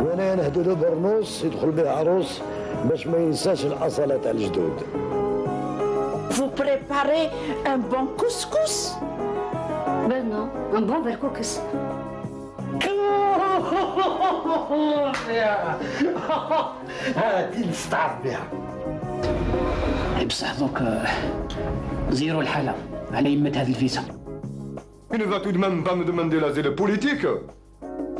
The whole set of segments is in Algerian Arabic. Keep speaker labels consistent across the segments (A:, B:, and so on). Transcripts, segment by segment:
A: وانا نهدو له برنوس يدخل به عروس باش ما ينساش الاصاله تاع الجدود.
B: Vous préparez un bon couscous?
C: Ben non, un bon verkoukas.
A: هادي نستعرف بها.
D: بصح دوك زيرو الحالة على يمة هاد الفيزا.
E: Il ne va tout de même pas me demander l'asile politique.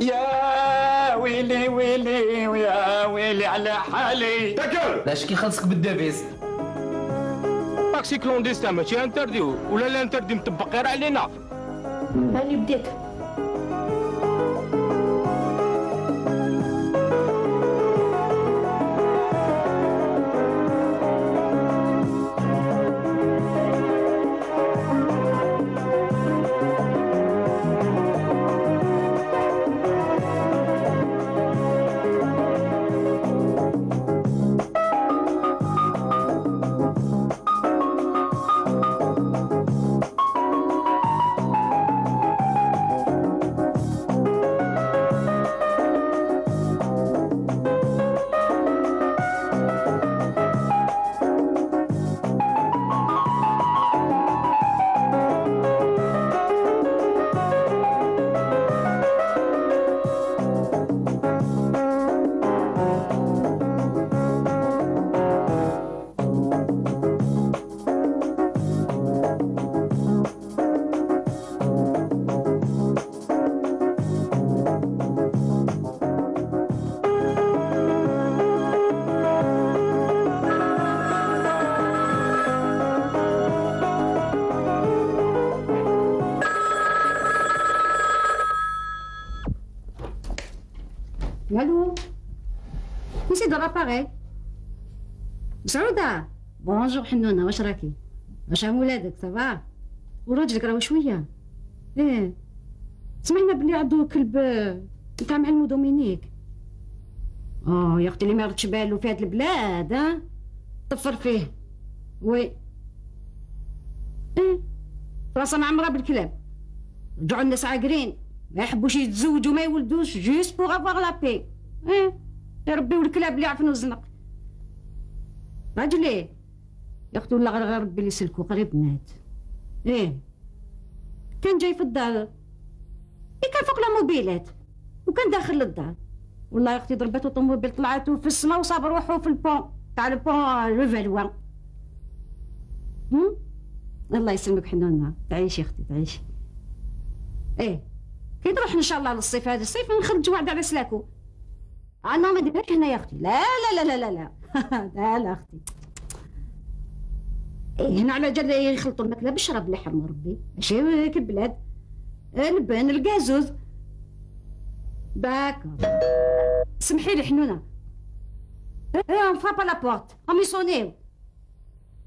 B: يا ويلي ويلي ويا ويلي على حالي.
E: تاكل.
F: لاش كي خلصك بالدافيز.
G: تاكسي كلونديستان ماشي انترديو ولا لا انتردي مطبق غير علينا.
C: هاني بديت. Allô? نسيت الاباري. سعودة بونجور حنونة، واش راكي؟ واش عام ولادك صافا؟ وراجلك راهو شوية؟ ايه سمعنا بلي عندو كلب نتاع معلمو دومينيك. يا اختي اللي ما ردش بالو في هاد البلاد ها؟ طفر فيه. وي ايه راسها معمرة بالكلاب. رجعوا الناس عاقرين ما يحبوش يتزوجوا ما يولدوش جوست بوغ افواغ لا بي. يربيو الكلاب اللي يعرفنو الزنق. راجلي يا اختي والله غير ربي اللي يسلكو قريب مات. كان جاي في الدار كان فوق الموبيلات وكان داخل للدار. والله يا اختي ضربته طوموبيل طلعتو في السما وصاب روحو في البون تاع البون لو فالوان. الله يسلمك حنونة، تعيشي اختي تعيشي. كي نروح ان شاء الله للصيف هذا الصيف نخرج وعد على سلاكو. انا ما نديرهاش هنا يا اختي، لا لا لا لا لا لا لا اختي. هنا على جال يخلطوا الماكله بالشراب اللي حرم ربي ماشي كالبلاد. اللبن الكازوز داكور. سمحي لي حنونه. اون فرابا لا بورت هم يصونيو.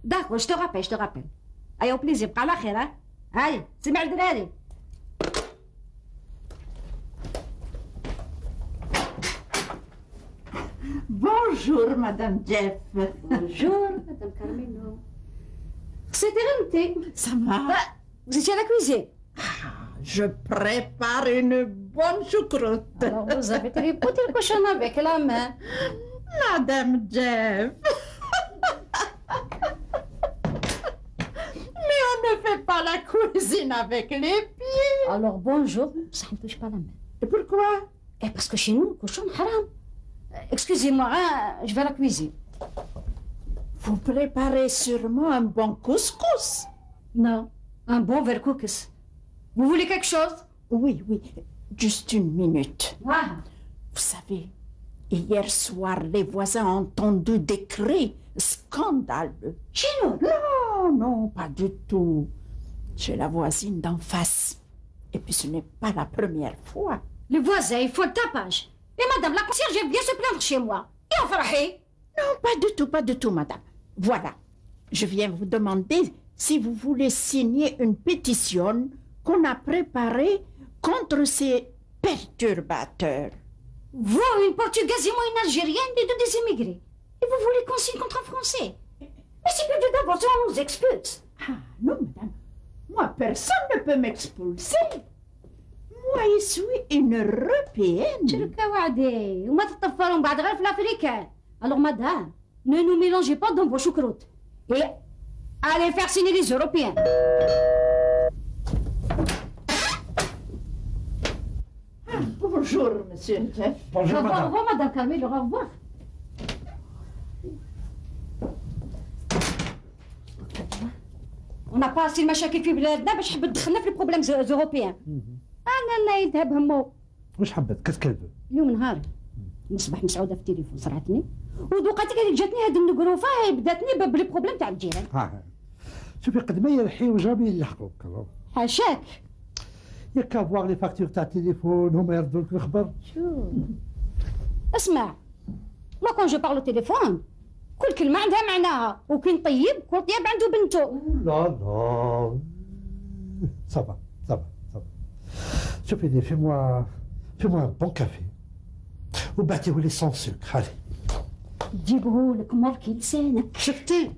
C: داكور جو تو رابيل جو تو رابيل. ايوا بليزير بقى على خير. هاي سمع الدراري.
B: Bonjour, Madame Jeff.
C: Bonjour, Madame Carmelo. C'était remonté.
B: Ça va?
C: Vous étiez à la cuisine.
B: Je prépare une bonne choucroute.
C: Alors, vous avez tripoté le cochon avec la main.
B: Madame Jeff. Mais on ne fait pas la cuisine avec les pieds.
C: Alors, bonjour, ça ne touche pas la main.
B: Et pourquoi?
C: Parce que chez nous, le cochon haram. Excusez-moi, je vais à la cuisine.
B: Vous préparez sûrement un bon couscous.
C: Non, un bon verkoukas. Vous voulez quelque chose?
B: Oui, oui, juste une minute.
C: Ah.
B: Vous savez, hier soir, les voisins ont entendu des cris scandaleux.
C: Chez nous?
B: Non, non, pas du tout. Chez la voisine d'en face. Et puis ce n'est pas la première fois.
C: Les voisins, ils font le tapage. Et madame la concierge vient se plaindre chez moi. Et on fera.
B: Non, pas du tout, madame. Voilà, je viens vous demander si vous voulez signer une pétition qu'on a préparée contre ces perturbateurs.
C: Vous, une Portugaise et moi, une Algérienne, les deux des immigrés. Et vous voulez qu'on signe contre un Français? Mais c'est plus de divorce, on nous expulse.
B: Ah non, madame. Moi, personne ne peut m'expulser. Moi, je suis une Européenne.
C: شركة وعدي وما تطفروا بعد غير في الافريكان. Alors madame, ne nous mélangez pas dans vos choucroutes. Et allez faire signer les Européens.
B: Bonjour, monsieur.
C: Bonjour, au revoir, madame Carmel, au revoir. On n'a pas assez المشاكل في بلادنا باش حب تدخلنا في البروبليم زوروبيان. انا يذهب همو.
F: واش حبت كتكلبوا؟
C: اليوم نهاري نصبح مسعوده في التليفون صرعتني ودوقاتي قالت جاتني هاد النقروفه بداتني بالبروبليم تاع الجيران.
F: شوفي قد ما يلحيو جامي يلحقوك.
C: حاشاك.
F: ياك افواغ لي فاكتور تاع التليفون هما يردوا لك الخبر.
C: شوف اسمع ما كون جو بارلو تليفون كل كلمه عندها معناها وكي نطيب كل طياب عنده بنته.
F: لا لا صبا صبا صبا. شوفي لي في موا بون كافي وبعتيه لي سون سكر. هاني
C: تجيبهولك مركي لسانك.
F: شفتي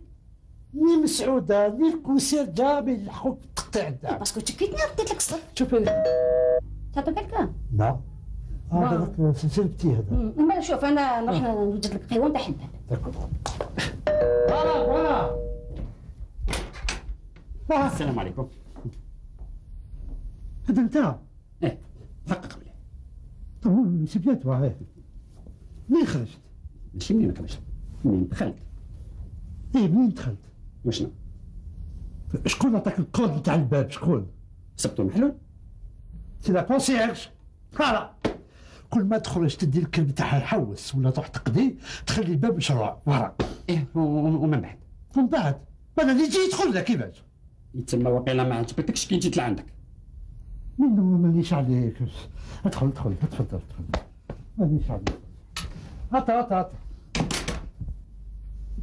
F: ني مسعوده ني الكوسير جامي يلحقوك تقطيع الدعم.
C: باسكو تشكيتني رديت لك الصف.
F: شوفي
C: تعطي كلكان؟
F: لا هذاك سلسلتي هذا.
C: اما شوف انا نروح نوجد لك قهوه تاع حبه.
F: فوالا
H: السلام عليكم.
F: هذا انت؟
H: ايه حقق مليح.
F: طب سي بيان توا منين خرجت؟
H: ماشي منين خرجت، منين دخلت.
F: ايه منين دخلت؟
H: وشنو؟
F: شكون عطاك الكود تاع الباب؟ شكون؟
H: سبتو محلول؟
F: سي لا كونسيرج. فوالا كل ما تخرج تدي الكلب تاعها يحوس ولا تروح تقضي تخلي الباب مشروع ورا.
H: ايه ومن بعد؟
F: ومن بعد انا اللي يجي يدخل لك كيفاش؟
H: يتسمى وقيلا ما عجبتكش كي جيت لعندك.
F: منو مانيش عليك. ادخل تفضل مانيش عليك. هات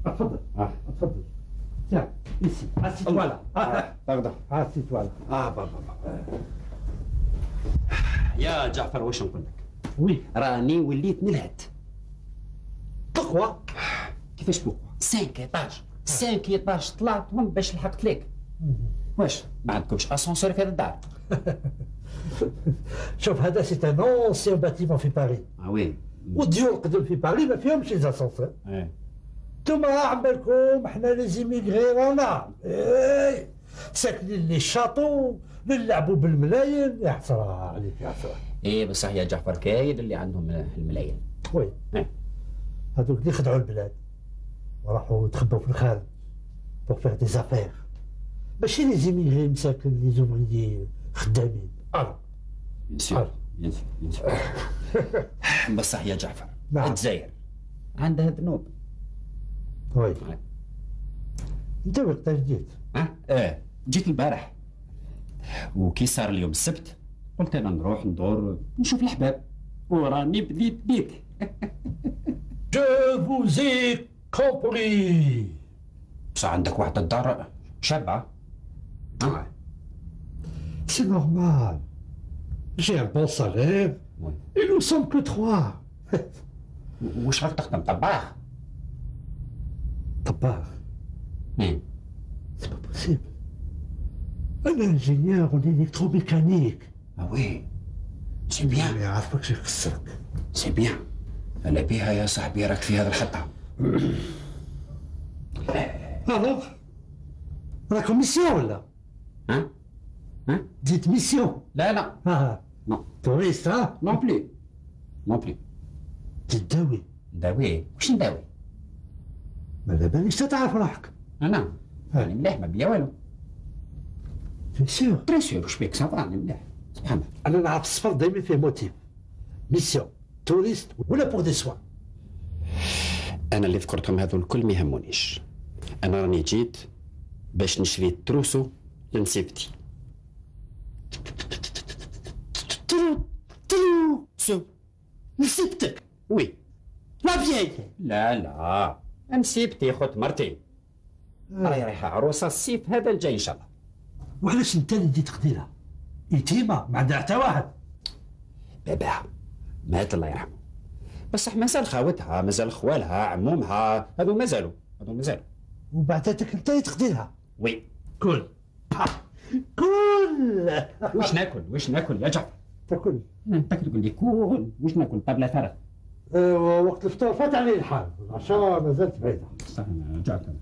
F: تفضل تفضل. tiens ici assieds-toi là.
H: pardon.
F: assieds-toi là.
H: بابا يا جعفر واش نقول لك؟
F: وي
H: راني وليت نلهت.
F: بوكوا؟
H: كيفاش بوكوا؟ 5 ايطاج طلعتهم باش لحقت لك. واش ما عندكمش اسانسور في هذا الدار؟
F: شوف هذا سي ان اونسيان باتيمون في باريس.
H: وي
F: والديور القدم في باريس ما فيهمش لي اسانسور. انتوما عمالكم احنا لي زيميغري رانا ساكنين لي شاطو نلعبوا بالملايين. يا حسره عليك يا حسره.
H: ايه بصح يا جعفر كاين اللي عندهم الملايين.
F: وي هذوك اللي خدعوا البلاد وراحوا تخبوا في الخارج بوغ فيغ دي زافير. ماشي لي زيميغري مساكن لي زومريي خدامين.
H: بيان سور بصح يا جعفر الجزائر عندها ذنوب.
F: وي انت وقتاش جيت؟
H: جيت البارح وكي صار اليوم السبت قلت انا نروح ندور نشوف الحباب وراني بديت بيك.
F: جو فوزي كومبري.
H: بصح عندك واحد الدار شابة.
F: سي نورمال جي ان بون سالير اي نو سوم كو 3.
H: واش راك تخدم طباخ؟
F: طباخ؟ سي با بوسيبل. انا انجينيور اون الكتروميكانيك.
H: وي سي بيان.
F: اللي عارفك شي خسرك.
H: سي بيان انا بيها يا صاحبي راك في هذا الخطة.
F: الوغ راكم ميسيون ولا؟
H: ها؟
F: ديت ميسيون؟
H: لا
F: نو توريست.
H: نون بلي
F: تداوي.
H: نداوي؟ واش نداوي؟
F: ما على باليش تعرف روحك.
H: انا راني مليح ما بيا والو. تري سيور واش بيك صافا راني مليح سبحان الله.
F: انا نعرف السفر دايما فيه موتيف ميسيون توريست ولا بور دي سوان.
H: انا اللي ذكرتهم هذول الكل ما يهمونيش. انا راني جيت باش نشري التروسو لنسيبتي.
F: تروسو نسيبتك؟
H: وي
F: لا فياي.
H: لا نسيبتي خوت مرتي راهي رايحه عروسه الصيف هذا الجاي ان شاء الله.
F: وعلاش انت اللي جيت تقديرها؟ يتيمه ما عندها حتى واحد.
H: باباها مات الله يرحمه بصح مازال خاوتها مازال خوالها عمومها هذو مازالوا.
F: وبعداتك انت تقديرها.
H: وي.
F: كل كل
H: واش ناكل يا جعفر؟
F: تاكل
H: تقول لي كل واش ناكل طابله فرغ.
F: وقت الفطور فات عليه الحال، العشاء مازالت بعيده.
H: صح جعفر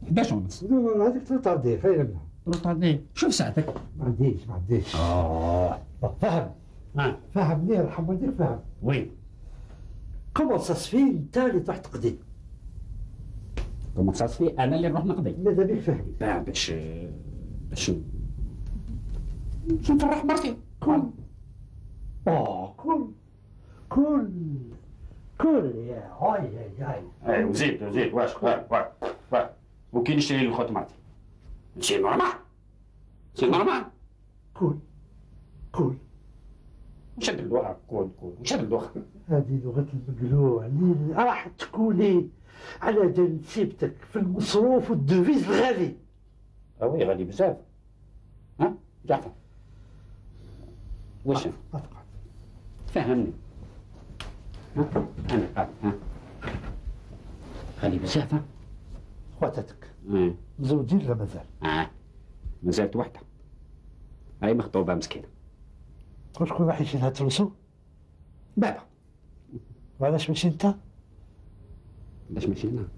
H: 11:30.
F: هذيك تروطاردي فاين
H: تروطاردي. شوف ساعتك.
F: ما عنديش. فهم فهمني يرحم والديك فهم.
H: وي.
F: كومون سا سفي انت اللي تروح تقضي؟
H: كومون سا سفي انا اللي نروح نقضي؟
F: ماذا بيك فهمي؟
H: باش نفرح مرتي.
F: كل يا هاي
H: وزيد واش وكي نشري لي خوت مرتي شي نورمال كل نشد اللوحة نشد اللوحة.
F: هذه لغة المقلوع اللي راح تكوني على جال نسيبتك في المصروف والدوفيز الغالي.
H: وي غالي بزاف. ها جعفر واش فهمني. ها انا قاعد غالي بزاف.
F: خواتاتك مزوجين ولا مازال؟
H: مازالت وحده، هاي مخطوبه مسكينه.
F: وشكون راح يشيلها تلوسو؟
H: بابا.
F: وعلاش ماشي انت؟
H: علاش ماشي انا؟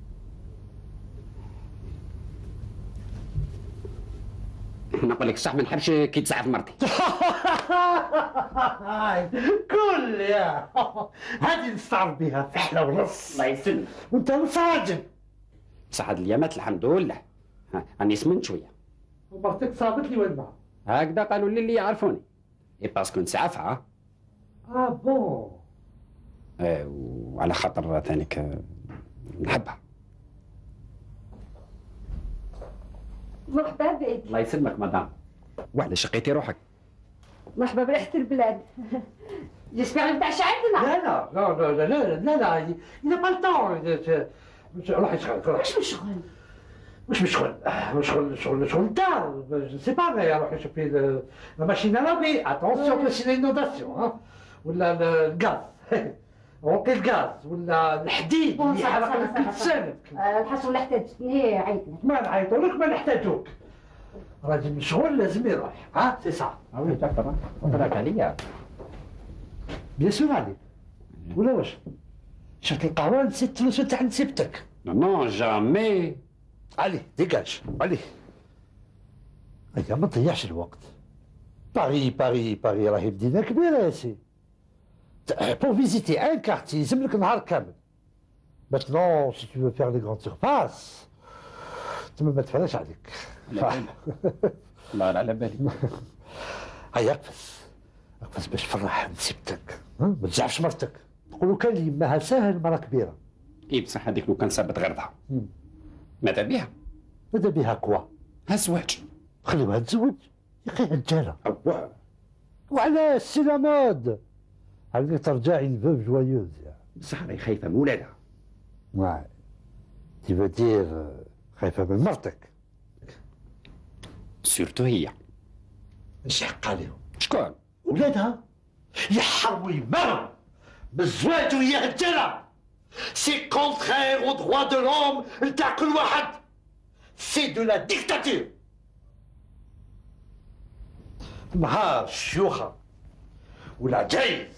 H: نقول لك صح ما نحبش كي تسعف مرتي.
F: كل يا هذه نستعرض بها فحله ونص.
H: الله يسلمك.
F: وانت مساجن.
H: بصح هاد الايامات الحمد لله راني سمنت شويه.
F: ومرتك صابت لي وين معها؟
H: هكذا قالوا لي اللي يعرفوني. اي باسكو نسعفها.
F: بون.
H: وعلى خاطر ثانيك نحبها.
C: مرحبا بك.
H: الله يسلمك مدام. وعلاش شقيتي روحك؟
C: مرحبا بريحة البلاد. جيسبيغ نتعشى عندنا.
F: لا إذا با الطون. روحي شغل. مش شغل الدار. جو سي با مي روحي شوفي لا ماشين لافي. اتونسيون باش لينوداسيون ولا الغاز. روقي الغاز ولا الحديد اللي يحرق لك السند.
C: الحسن احتاجتني عيطنا.
F: ما نعيطوا لك ما نحتاجوك. راجل مشغول لازم يروح. سي صح.
H: وي دكتور راك عليا.
F: بيان سور عليك. ولا واش؟ شربت القهوه نسيت الفلوس تاع نسيبتك.
H: نو جامي.
F: عليه ديجاج عليه. هيا ما تضيعش الوقت. باري راهي مدينه كبيره يا سي. Pour visiter un quartier, يلزم لك نهار كامل. Maintenant, si tu veux faire les grandes surfaces, تما ما تفرجش عليك.
H: الله على بالي.
F: هيا اقفز باش تفرح نسيبتك. ما تزعفش مرتك. تقولوا كان يماها ساهل مرة كبيرة.
H: اي بصح هذيك لو كان صابت غردها. ماذا بها؟
F: ماذا بها كوا؟
H: هالزواج.
F: خليوها تزوج. يا اخي رجالة. وعلاش سي لا مود؟ هاكا ترجعي لفوف جوايوز.
H: بصح راهي خايفة من ولادها.
F: واي. تي فو دير خايفة من مرتك.
H: سورتو هي.
F: اش حق عليهم؟
H: شكون؟
F: ولادها يحرموا يمروا بالزواج ويا رجالة. سي كونترير او دروا دو لوم نتاع كل واحد. سي دو لا ديكتاتور. نهار الشيوخة ولا جاي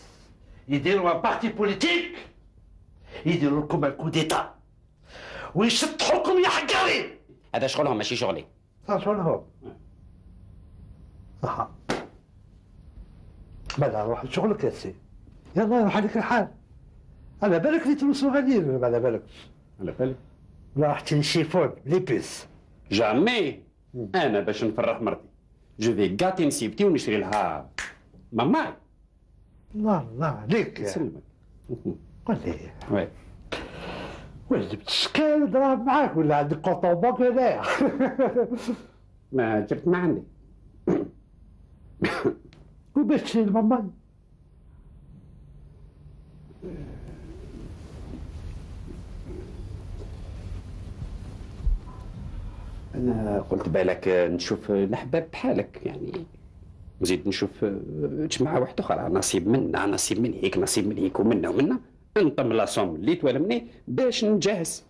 F: يديروا ان بارتي بوليتيك يديروا لكم الكو ديتا ويشطحوكم يا حقاري.
H: هذا شغلهم ماشي شغلي.
F: شغلهم. صح. بلا روح لشغلك يا سي. يلا روح عليك الحال. على بالك اللي تلوسو غاديين ولا على بالك؟
H: على بالي.
F: ولا راح تشري شيفون لي بيس.
H: جامي. انا باش نفرح مرتي جو في كاطي نسيبتي ونشري لها ماما.
F: الله عليك.
H: يسلمك.
F: قول لي.
H: وي.
F: واش جبت الشكال دراهم معاك ولا عندك كونطون بانك هنايا؟
H: ما جبت ما عندي.
F: وباش تشري لماما؟
H: انا قلت بالك نشوف الأحباب بحالك يعني نزيد نشوف جماعة واحدة أخرى نصيب منا نصيب من هيك نصيب من هيك ومنا ومنا نطم لاصوم اللي توالمني باش نجهز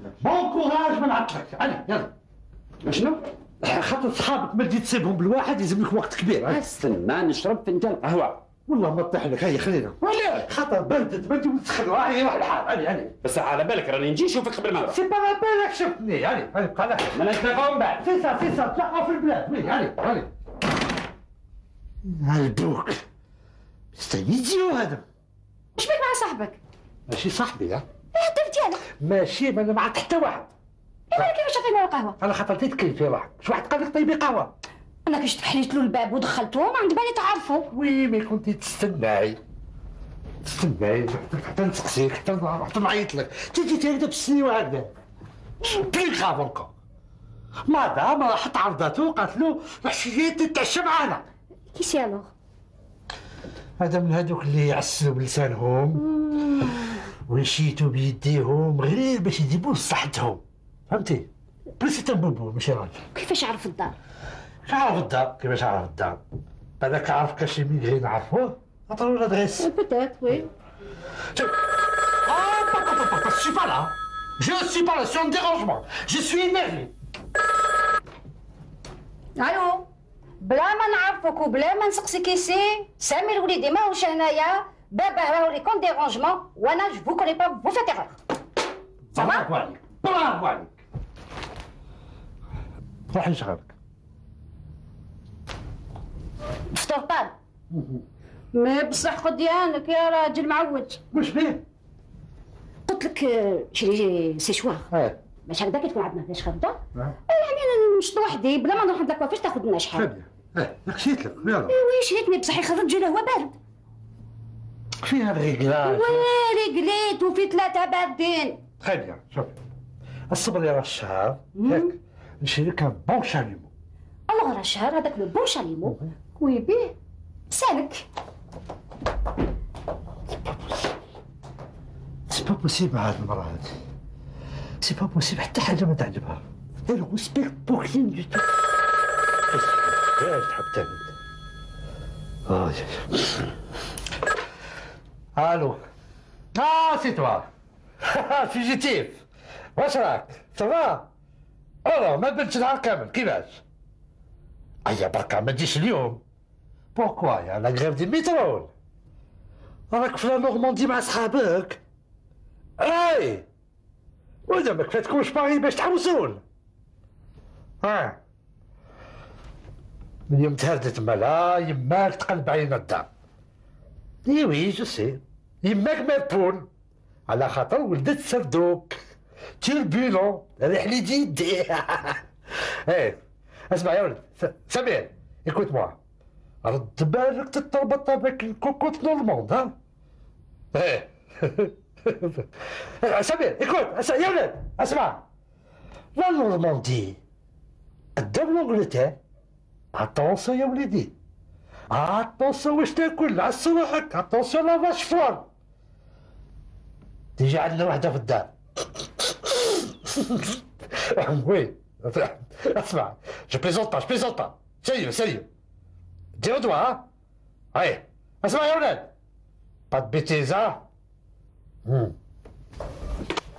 F: بون كوراج ما نعطلكش. علي يلا.
H: شنو؟
F: خاطر صحابك ما تجي تسيبهم بالواحد يلزم لك وقت كبير.
H: استنى نشرب فنجان قهوه.
F: والله ما طيح لك. هيا خلينا.
H: ولا
F: خاطر بردت ما تجي تسخن. هاي روح الحال. علي
H: بس على بالك راني نجي نشوفك قبل ما نروح.
F: سي با على بالك شفتني. علي بقى لك.
H: ما نتلاقاو من بعد.
F: سي سا تلاقاو في البلاد. وي علي هالبوك مستنيتيو هذا.
C: واش بك مع صاحبك؟
F: ماشي صاحبي. ها
C: الهدف ديالك
F: ماشي ما انا معك حتى واحد.
C: انا كيفاش عطينا القهوه؟
F: انا خاطر تتكلم في واحد. شو واحد قال لك طيبي قهوه؟
C: انا كيش حليت له الباب ودخلته ما عند بالي تعرفوا.
F: وي مي كنتي تستناي حتى نسقسيك حتى نعيط لك. تجي تهدى بالسني وهكذا بلي خاف انكو. مادام راحت عرضته قالت له العشيه تتعشى معانا.
C: كيسي الوغ؟
F: هذا من هذوك اللي يعسلوا بلسانهم ويشيتوا بيديهم غير باش يجيبوا لصحتهم. فهمتي؟ بليس بوبو ماشي راجل.
C: كيفاش عرف الدار؟
F: عارف الدار. كيفاش عارف الدار؟ بالك عارف كاش ميغري نعرفوه؟ عطاو له لادريس.
C: بوتيت وي.
F: Je suis pas là. Je ne suis pas là, c'est un dérangement. Je suis énervé.
C: الو بلا ما نعرفك وبلا ما نسقسي كيسي سامي الوليدي ماهوش هنايا بابا راهو لي كون ديرونجمون وانا جو فو كوني با فو فيت ايرور.
F: برافو عليك برافو عليك. روحي شغلك.
C: فطور طال. ما بصح قديانك يا راجل معود.
F: واش بيه؟
C: قلت لك شري سيشوار باش هكذا كي تكون عندنا فيش خرجه يعني انا نمشط وحدي بلا ما نروح عند الكوافير تاخذ لنا شحال.
F: خشيت لك يلا.
C: وي شريتني بصح يخرج له هو بارد.
F: فيها الريقلاج.
C: وي ريقليت وفي 3 باردين.
F: تخي بيان شوفي الصبر يا الشهر ياك نشري لك ان بون شاليمو.
C: الوغ راه الشهر هذاك لو بون شاليمو كوي بيه سالك.
F: سي با بوسيبل هاد المرة هادي. سي با بوسيبل حتى حاجة ما تعجبها. Elle respecte pour rien du tout. ايش تحب تعمل؟ الو. سي توا. فيجيتيف. واش راك؟ سافا؟ والله ما بنتش نهار كامل كيفاش؟ ايا بركة ما تجيش اليوم. بوركوا يا لا غريف دي ميترول؟ راك في لا نورماندي مع صحابك؟ اي وإذا ما كفاتكمش باغي باش تحوسون. من يوم تهردت مالا يماك تقلب علينا الدار. وي جو سي يماك مالبون على خاطر ولدت سردوك تيربيلون ريح لي جيدي. ايه اسمع يا ولد سمير ايكوت موا رد بالك تتربط بك الكوكوت نورموند. ها ايه سمير ايكوت يا ولد اسمع لا نورماندي قدام لونجلتير. اتونسيون يا وليدي اتونسيون واش تاكل عس روحك. اتونسيون لا فاش فوار تيجي عندنا وحده في الدار. وي اسمع جو بليزونت با سيريو ديرو دوا. ها اي اسمع يا ولاد با بيتيزا.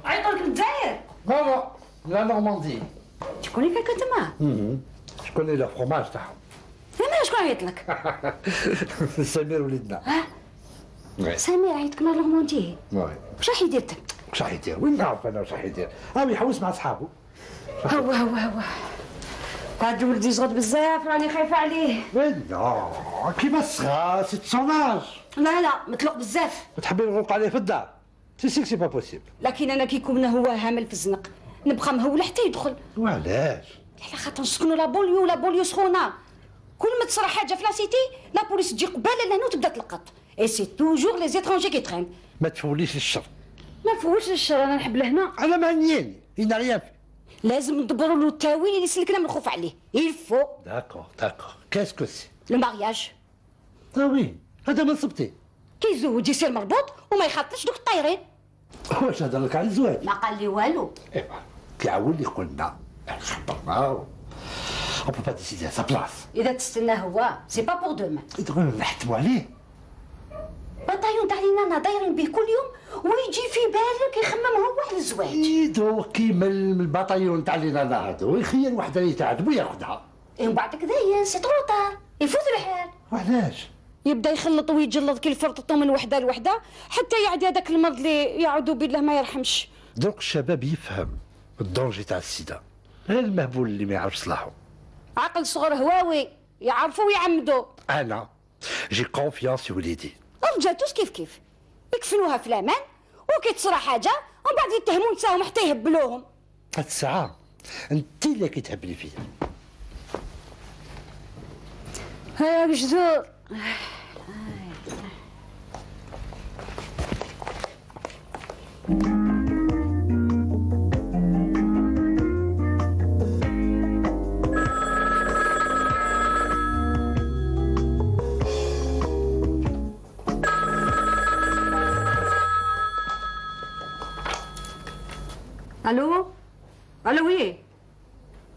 C: عيطوا لك الجزائر؟
F: نو لا نورماندي.
C: شكون اللي كان تما؟
F: شكون اللي الفرماج تاعهم؟
C: سمير شكون عيط لك؟
F: سمير وليدنا.
C: سمير عيطك مع نورماندي. واش راح يدير؟
F: واش راح يدير؟ وين نعرف انا واش راح يدير؟ يحوس مع صحابه.
C: هو هاد ولدي صغد بزاف راني خايفه عليه.
F: لا كيما الصغار سي تسوناج.
C: لا مطلق بزاف.
F: تحبي نغلق عليه في الدار؟ سي با بوسيبل.
C: لكن انا كي يكون هو هامل في الزنق نبقى مهوله حتى يدخل.
F: وعلاش؟
C: على خاطر نسكنوا لا بوليو سخونه. كل ما تصرا حاجه في لاسيتي لا بوليس تجي قباله لهنا وتبدا تلقط. اي سي توجور لي زيترونجي كي ترين.
F: ما تفوليش الشر.
C: ما فوش الشر انا نحب لهنا.
F: انا ما نياني إنا ريان في.
C: لازم ندبروا له التاويل اللي يسلكنا من الخوف عليه. يلفو.
F: داكور كاسكو سي؟
C: لو مارياج.
F: وي هذا من صبتي.
C: كي يزوج يصير مربوط وما يخاطرش دوك الطايرين.
F: واش هضر لك على الزواج؟
C: ما قال لي والو.
F: ايوا كي عاود لي قلنا خبرنا اون بو با ديسيدي ا سا بلاص.
C: اذا تستنى هو سي با بور دومان.
F: تقول نحتموا عليه.
I: بطايون تاع لينا دايرين به كل يوم ويجي في بالك يخمم هو على الزواج.
F: دوك كيما من البطايون تاع لينا هادو يخير وحده اللي تعذب وياخذها.
I: ومن بعد كذا سي طروطار يفوت الحال.
F: وعلاش؟
C: يبدا يخلط ويجلط كي فرططو من وحده لوحده حتى يعدي هذاك المرض اللي يعوذ بالله ما يرحمش.
F: دوك الشباب يفهم الدونجي تاع السيده، غير المهبول اللي ما يعرف صلاحه.
C: عقل صغر هواوي يعرفوا ويعمدوا.
F: انا جي كونفيونس في وليدي.
C: الرجال توس كيف يكفلوها في الامان وكي تصرى حاجه ومن بعد يتهموا نساهم حتى يهبلوهم.
F: هاد الساعه انت اللي كتهبلي فيا.
C: هيا جذور. الو الو وي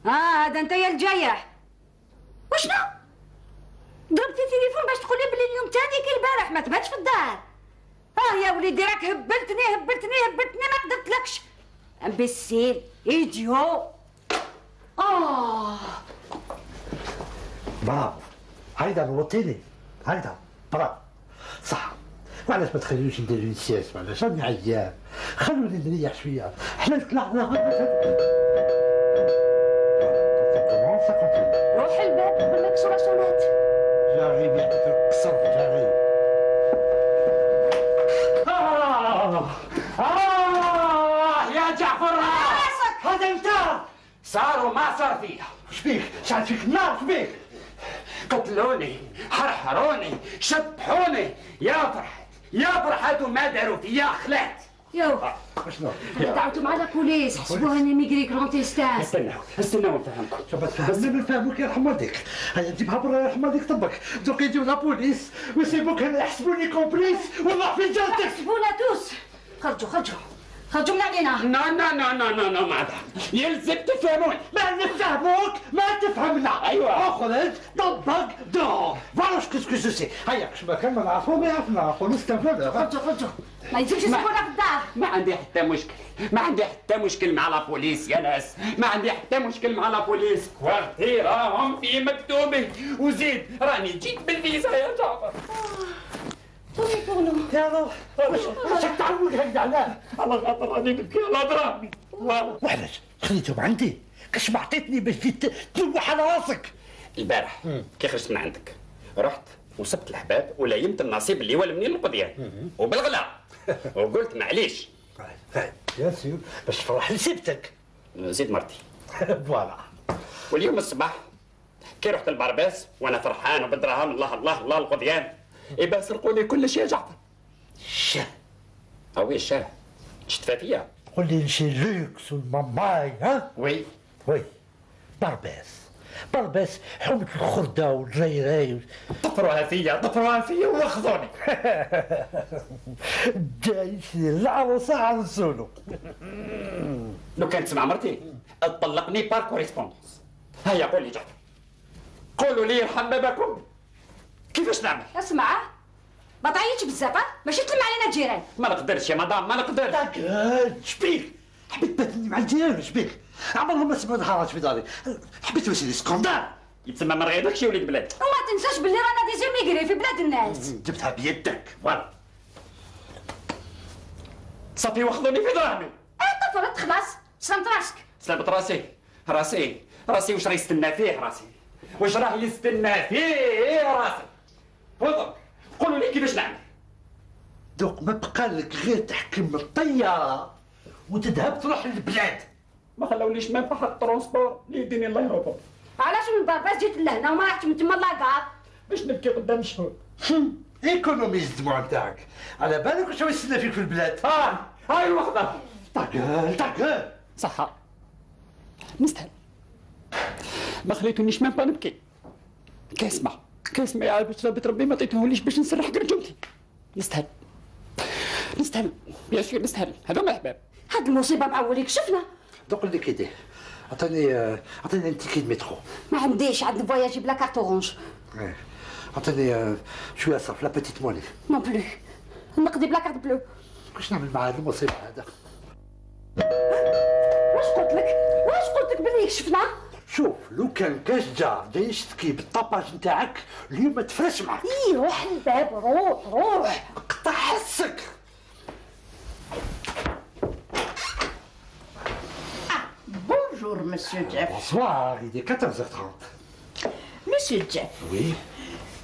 C: هذا انت يا الجايح. وشنو ضربتي التليفون باش تقولي بلي اليوم تاني كي البارح ما تباتش في الدار؟ يا وليدي راك هبلتني ما قدرتلكش. امبسيل ايديو.
F: برافو، هيدا نوطيني، هيدا برافو صح. وعلاش ما تخليوش نديرو سياس؟ وعلاش راني عيان، خلوني نريح شويه. حنا طلعنا
I: روح الباب قبل ما يكسروا سونات.
F: جاري يعطيك القصر جاري.
H: يا جعفر
F: هذا انت
H: صار وما صار فيها.
F: شبيك؟ شعل فيك النار شبيك؟
H: قتلوني، حرحروني، شطحوني، يا فرحات وما داروا فيا خلعت.
C: يو
F: شنو؟
C: انا دعوتهم على البوليس حسبوها اني ميغري كرونتيستاس.
H: استناو نفهمكم.
F: شوف تفهمني نفهمك يرحم والديك. هيا جيبها برا يرحم والديك طبك. دوك يجيو لا بوليس ويسيبوك هنا يحسبوني كومبليس والله في جلدك.
C: حسبونا توس. خرجوا من علينا.
H: نو ماذا يلزم تفهمون.
F: ما نفهموك ما تفهمنا.
H: ايوه
F: اخرج طبق دور فوالا سكو جو سي. هيا باش ما كان ما نعرفو ما يعرفنا نقولوا استنفذ.
C: خرجوا ما يلزمش يسيبونا في الدار.
H: ما عندي حتى مشكل مع لا بوليس يا ناس، ما عندي حتى مشكل مع لا بوليس. كوارتي راهم في مكتوبي وزيد راني جيت بالفيزا يا جعفر.
F: يا الله واش تعود هكذا علاه؟
H: على خاطر راني نبكي على دراهمي.
F: وعلاش خليتهم عندي؟ كاش ما عطيتني باش جيت تلوح على راسك.
H: البارح كي خرجت من عندك رحت وسبت الحباب وليمت النصيب اللي هو منين القضيان وبالغلا وقلت معليش.
F: يا سير باش تفرح لي سبتك.
H: زيد مرتي.
F: فوالا.
H: واليوم الصباح كي رحت البرباس وانا فرحان وبالدراهم الله القضيان إبا سرقوا لي كل شيء يا جعفر.
F: الشاه.
H: وي الشاه شتفى فيا.
F: قول لي شي لوكس والماماي ها؟
H: وي
F: برباس حومة الخردة والجيراي.
H: طفروها فيا واخذوني.
F: جايش العروسة عرسولو.
H: لو كانت تسمع مرتي تطلقني بار كوريسبوندونس. هيا قول لي جعفر، قولوا لي يرحم باباكم كيفاش نعمل؟
C: اسمع ما تعيطش بزاف ماشي تلم علينا الجيران.
H: ما نقدرش يا مدام ما نقدرش.
F: شبيك؟ حبيت تباتني مع الجيران شبيك؟ عمرهم ما سمعوا حراج في داري. حبيت نسير سكوندال.
H: يتسمى ما رغيتكش يا وليد بلاد.
C: وما تنساش باللي رانا ديجا ميغري في بلاد الناس.
F: جبتها بيدك.
H: فوالا صافي واخذوني في دراهمي.
C: طفرت خلاص سلامت راسك.
H: سلامت راسي واش راه يستنى فيه راسي؟ واش راه يستنى فيه راسي؟ تفضل قولوا لي كيفاش نعمل.
F: دوك ما بقى لك غير تحكم الطياره وتذهب تروح للبلاد.
H: ما خلاوليش ما نفحط الترونسبور اللي يديني لايروبور.
C: علاش من برباس جيت لهنا وما رحتش من تما لاكار؟
H: باش نبكي قدام الشهود.
F: ايكونوميز الدموع نتاعك. على بالك واش يستنى فيك في البلاد؟
H: هاي الوحده.
F: تعقل
H: صح نستاهل. ما خليتونيش ما نبكي. كاسمع يا عاد باش ربي ما عطيتهوليش باش نسرح قرجومتي. نستاهل بيان سور نستاهل. هذوما احباب.
C: هاد المصيبه معوليك شفنا.
F: دوك اللي كيدير عطيني ان تيكي مترو.
C: ما عنديش عندي فواياجي بلا كارت اورانج.
F: عطيني شويه صرف لا بيتيت موني.
C: نون بلو نقضي بلا كارت بلو.
F: واش نعمل مع هذا المصيبه هذا؟
C: واش قلت لك؟ واش قلت لك بلي كشفنا؟
F: شوف لو كان كاش جار جاي يشتكي بالطاباج نتاعك اليوم ما تفرش معك.
C: اي روح الباب، روح
F: قطع حسك.
B: Bonjour, Monsieur Jeff.
F: Bonsoir, il est 14h30.
B: Monsieur Jeff.
F: Oui.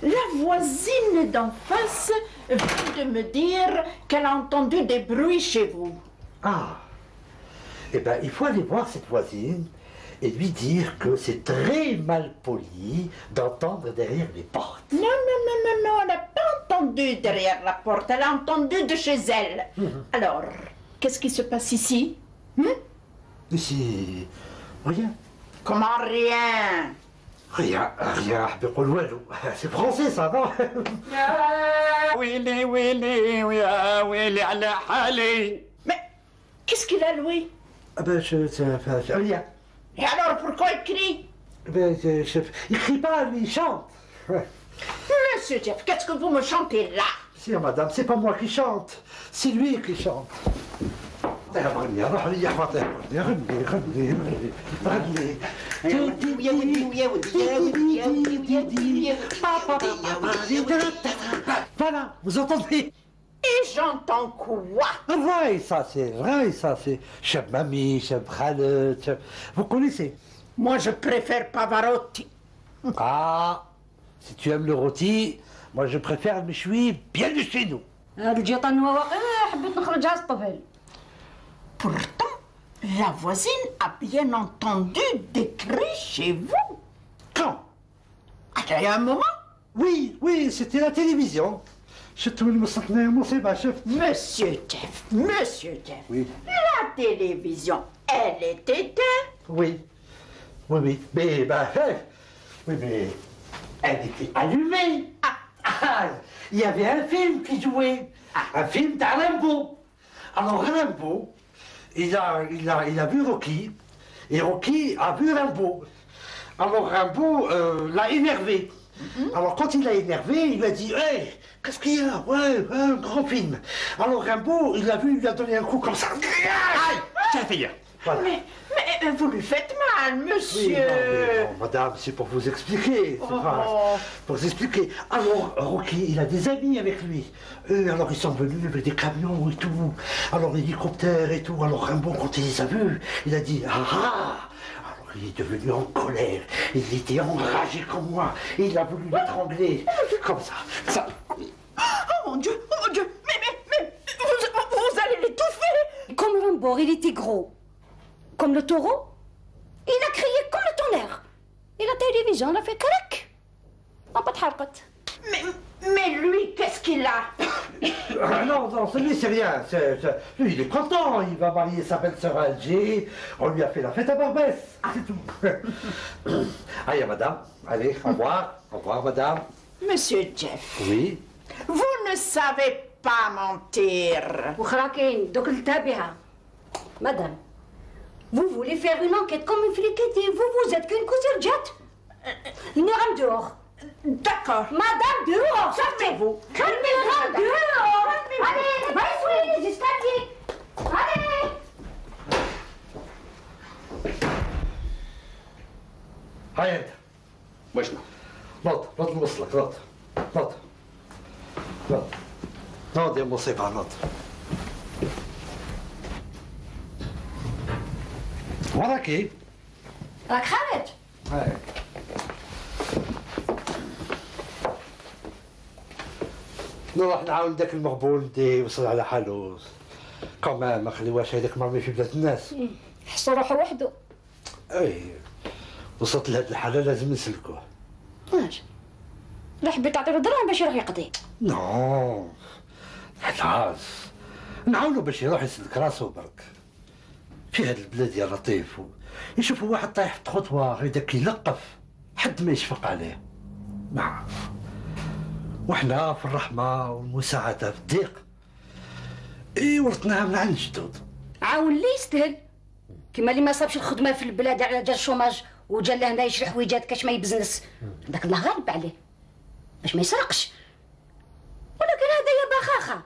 B: La voisine d'en face vient de me dire qu'elle a entendu des bruits chez vous.
F: Ah. Eh bien, il faut aller voir cette voisine et lui dire que c'est très mal poli d'entendre derrière les portes.
B: Non, elle n'a pas entendu derrière la porte, elle a entendu de chez elle. Alors, qu'est-ce qui se passe ici?
F: Ici, rien.
B: Comment rien?
F: Rien, حبي يقول والو. C'est français ça, non?
H: يا ويلي ويلي ويا ويلي على حالي.
B: Mais qu'est-ce qu'il a, Louis?
F: Ah ben, rien.
B: Et alors, pourquoi il crie?
F: Ben, il crie pas, lui, il chante.
B: Monsieur Jeff, qu'est-ce que vous me chantez là?
F: Si, madame, c'est pas moi qui chante, c'est lui qui chante. Voilà, vous entendez?
B: Et j'entends quoi?
F: Raï, ça c'est chef mamie, chef Khaled, chef... Vous connaissez?
B: Moi, je préfère Pavarotti.
F: Ah, si tu aimes le rôti, moi je préfère le méchoui bien de chez nous.
C: هاد الجيطان هو واقع حبيت نخرجها الطفل.
B: Pourtant, la voisine a bien entendu des cris chez vous.
F: Quand?
B: Il y a un moment.
F: Oui, c'était la télévision.
B: Monsieur Jeff.
F: Oui.
B: La télévision, elle est éteinte.
F: Oui. Mais, mais elle était allumée. Il y avait un film qui jouait. Un film de Rimbaud. Alors Rimbaud, il a vu Rocky. Et Rocky a vu Rimbaud. Alors Rimbaud l'a énervé. Alors quand il l'a énervé, il lui a dit hey, qu'est-ce qu'il y a? Ouais, un grand film. Alors Rimbaud, il l'a vu, il lui a donné un coup comme ça. Aïe, ça fait bien. Voilà.
B: Mais vous lui faites mal, monsieur.
F: Oui, non, madame, c'est pour vous expliquer. C'est pas pour vous expliquer. Alors, Rocky, il a des amis avec lui. Alors, ils sont venus avec des camions et tout. Alors, hélicoptères et tout. Alors, Rimbaud, quand il les a vus, il a dit ah. Alors, il est devenu en colère. Il était enragé comme moi. Et il a voulu l'étrangler. Comme ça.
B: Oh mon Dieu. Mais vous allez l'étouffer.
C: Comme Rimbaud, il était gros. Comme le taureau, il a crié comme le tonnerre. Et la télévision, elle a fait crac. On pas تحرقت.
B: Mais lui, qu'est-ce qu'il a?
F: Non, celui, c'est rien. Lui, il est content. Il va marier sa belle-sœur à Alger. On lui a fait la fête à Barbès. C'est tout. Allez, madame. Allez, au revoir. Au revoir, madame.
B: Monsieur Jeff.
F: Oui.
B: Vous ne savez pas mentir.
C: وخراكين دوك التابعة. Madame, vous voulez faire une enquête comme une fliquette et vous êtes qu'une cousine jette. Madame dehors.
B: D'accord.
C: Madame dehors.
B: Sortez-vous.
C: Madame dehors. Allez, va essuyer les escaliers. Allez.
F: هاي انت.
H: وشنو؟
F: نط نوصلك نط يا مصيبة نط. وراكي؟
C: راك خارج.
F: هاي. نروح نعاون داك المغبون دي وصل على حالو. كمان ما خليوهاش هذاك مرمي في بلاد الناس.
C: حس روحه وحده.
F: اي وصلت لهاد الحالة لازم نسلكوه.
C: واش؟ لا حبيت تعطي له دراهم باش يروح يقضي.
F: نو خلاص نعاونو باش يروح يسلك راسو برك. في هاد البلاد يا لطيف يشوفوا واحد طايح في الخطوة هذاك يلقف حد ما يشفق عليه. نعم وحنا في الرحمة والمساعدة في الضيق ورثناها من عند الجدود.
C: عاون اللي يستاهل كيما اللي ما صابش الخدمة في البلاد على جال الشوماج وجا لهنا يشري حويجات كاش ما يبزنس هذاك الله غالب عليه باش ما يسرقش. ولكن هذا يا بخاخة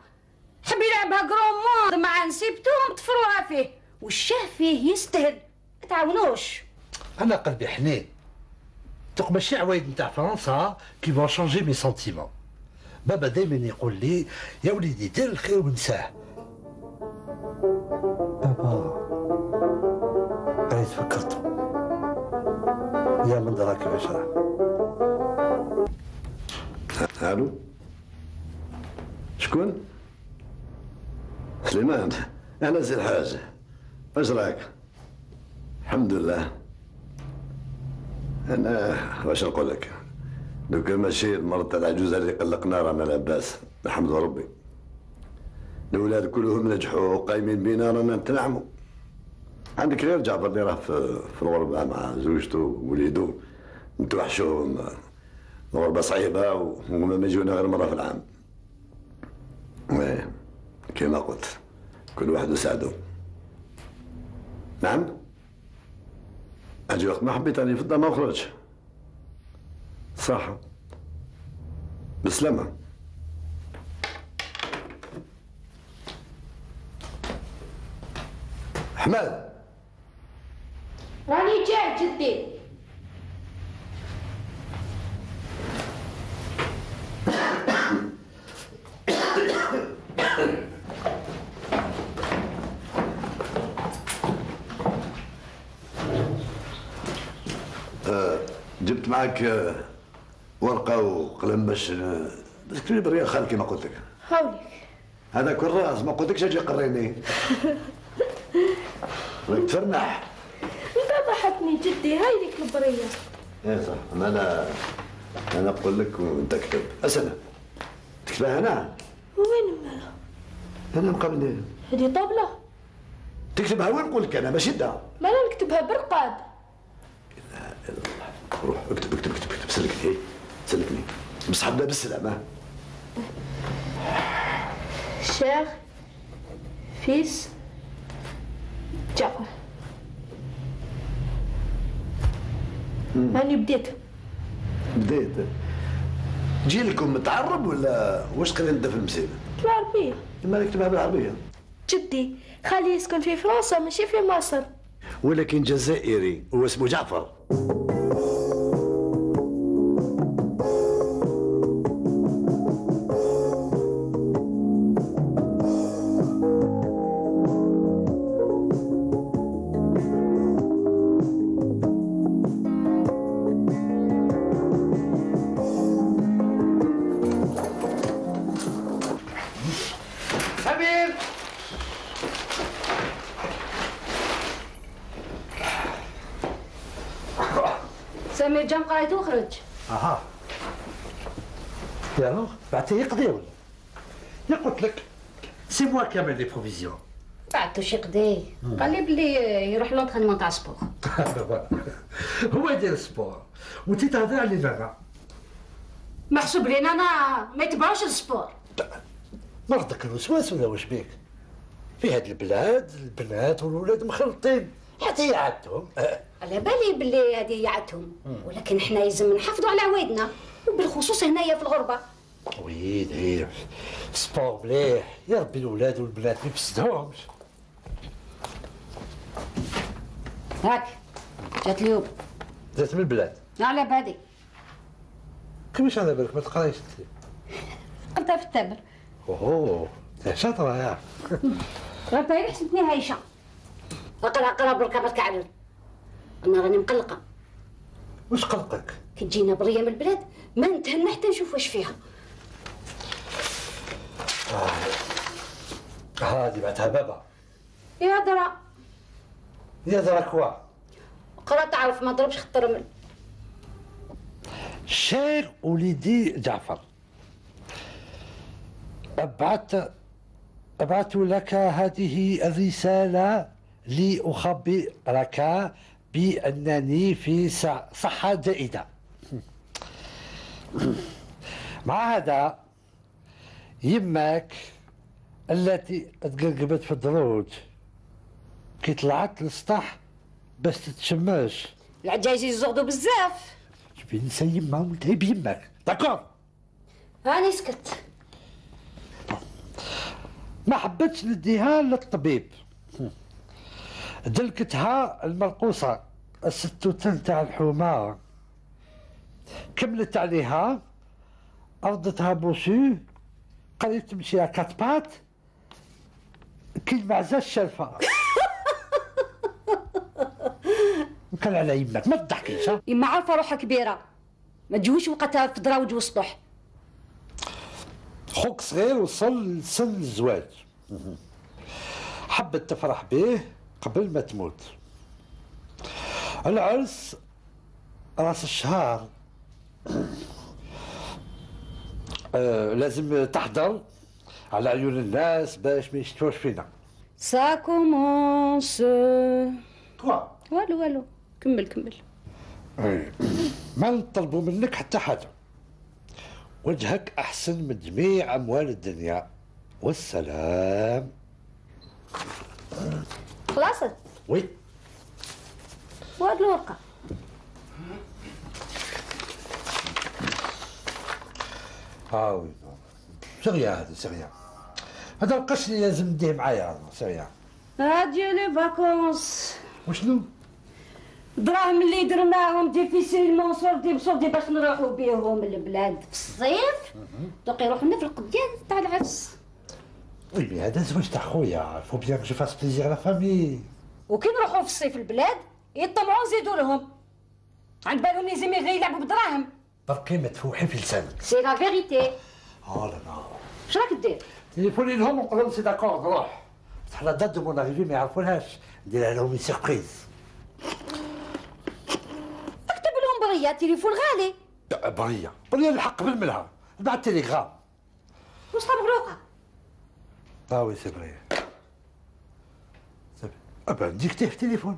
I: كروموند مع نسيبتوهم طفروها فيه، والشاه فيه يستاهل، ما تعاونوش.
F: انا قلبي حنين، دوك ماشي عوايد نتاع فرنسا كي فون شونجي مي سونتيمون. بابا دايما يقول لي يا وليدي دير الخير ونساه. بابا أنا تفكرت يا من دراك كيفاش راه.
A: الو شكون؟ سليمان، انا سي الحاج، واش راك؟ الحمد لله. انا واش نقول لك، دوكا ماشي المرض تاع العجوزه اللي قلقنا، رانا لاباس نحمد ربي. الاولاد كلهم نجحوا وقايمين بينا، رانا نتنعموا. عندك غير جعفر اللي راه في الغربه مع زوجته ووليدو، نتوحشوهم. الغربه صعيبه وهما ما يجونا غير مره في العام. كما قلت كل واحد وسعدو. نعم، اجي وقت ما حبيت راني في الدار ما نخرجش. صح، بالسلامة. حماد،
I: راني جاي جدي.
A: جبت معك ورقة وقلم باش تكتب بريا خالك كما قلت لك.
I: هاوليك
A: هذا كراس، ما قلتلكش اجي قريني. راك تفرنح.
I: انت ضحكني جدي، هاي ليك البرية.
A: ايه صح، انا نقول لك وانت اكتب. اسنى تكتبها هنا.
I: وين مالها؟
A: انا مقابل
I: هذه طبلة.
A: تكتبها وين نقول لك انا ماشي دا.
I: ما انا نكتبها برقاد.
A: روح اكتب اكتب اكتب اكتب، سلكني سلكني، بس حبنا بالسلامة.
I: شيخ فيس جعفر. هاني بديت
A: جي لكم متعرب ولا واش قريت انت في المسيرة؟
I: بالعربية.
A: ما نكتبها بالعربية.
I: جدي خالي يسكن في فرنسا ماشي في مصر.
A: ولكن جزائري هو اسمه جعفر.
C: سمير جام قرايته وخرج.
F: اها يالو بعثيه يقضي ولا؟ يا قلت لك سي موا كامل لي بروفيزيون.
C: بعثو شي قضي، قال لي بلي يروح لونطرينمون تاع سبور.
F: هو يدير السبور وانت تهضر على انا.
C: محسوب لينا انا ما يتبعوش السبور.
F: مرضك الوسواس ولا واش بيك؟ في هاد البلاد البنات والولاد مخلطين، حتى يعدهم.
C: على بالي بلي هذه يعدهم، ولكن حنا لازم نحافظوا على عوايدنا، وبالخصوص هنايا في الغربه.
F: ويد هي سبور مليح، يا ربي الولاد والبنات ما يفسدهمش.
C: هاك جات اليوم.
F: جات من البلاد.
C: على بالي.
F: كيفاش على بالك ما تقرايش انت؟
C: قريتها في التابر.
F: اوه شاطره يا.
C: قريتها غير حسبتني هايشه. اقرا بركه ما تكعبل. انا راني مقلقه.
F: واش قلقك؟
C: كي تجينا بريه من البلاد ما نتهنى حتى نشوف واش فيها.
F: هادي بعتها بابا.
C: يا درا.
F: يا درا كوا.
C: قرا تعرف ما ضربش خط رمل.
F: شير وليدي جعفر، أبعث لك هذه الرسالة لأخبرك بأنني في صحة جيدة. مع هذا يماك التي تقرقبت في الدروج كي طلعت للسطح باش تتشماش.
C: العجايز يزغدوا بزاف.
F: جبي نسى يما ونتعب يماك، داكور؟
C: هاني سكت.
F: ما حبتش نديها للطبيب، دلكتها المرقوصة الستوتن تاع الحومة، كملت عليها أرضتها بوسو، قالت تمشي على كاتبات كي المعزة الشرفة. كان على يمك ما تضحكيش.
I: يما عارفة روحها كبيرة، ما تجوش وقتها في دراوج وسطح.
F: خوك صغير وصل لسن الزواج، حبت تفرح به قبل ما تموت. العرس راس الشهر، لازم تحضر على عيون الناس باش ما يشتوش فينا.
I: سا كومونس.
F: كوا
I: والو كمل.
F: ما نطلبوا منك حتى حاجه، وجهك احسن من جميع اموال الدنيا، والسلام.
I: خلاصت؟
F: وي.
I: وهاد الورقه
F: وي سريع، هذا سريع، هذا القش اللي لازم نديه معايا سريع.
I: هادي لي فاكونس.
F: وشنو؟
I: الدراهم اللي درناهم ديفيسيلمون صوردي باش نروحوا بيهم للبلاد في الصيف، دوك يروحوا لنا في القديان تاع العرس.
F: وي مي هذا زواج تاع خويا، فو بيان جو فاس بليزير لا فامي.
I: وكي نروحوا في الصيف البلاد يطمعوا نزيدوا لهم، عند بالهم لي زيميغي يلعبوا بدراهم.
F: بركي ما تفوحي في لسانك.
I: سي لا فيغيتي.
F: لا لا.
I: اش راك دير؟
F: تليفوني لهم ونقول لهم سي داكور نروح، بصح لا دات دو مون اريفي ما يعرفولهاش، نديرها لهم سيربريز.
I: اكتب لهم بريه، تليفون غالي.
F: بريه الحق بالملها، بعد تيليغرام.
I: وصفه مغلوقه.
F: وي سي فري. ابا ديكتيه في التليفون.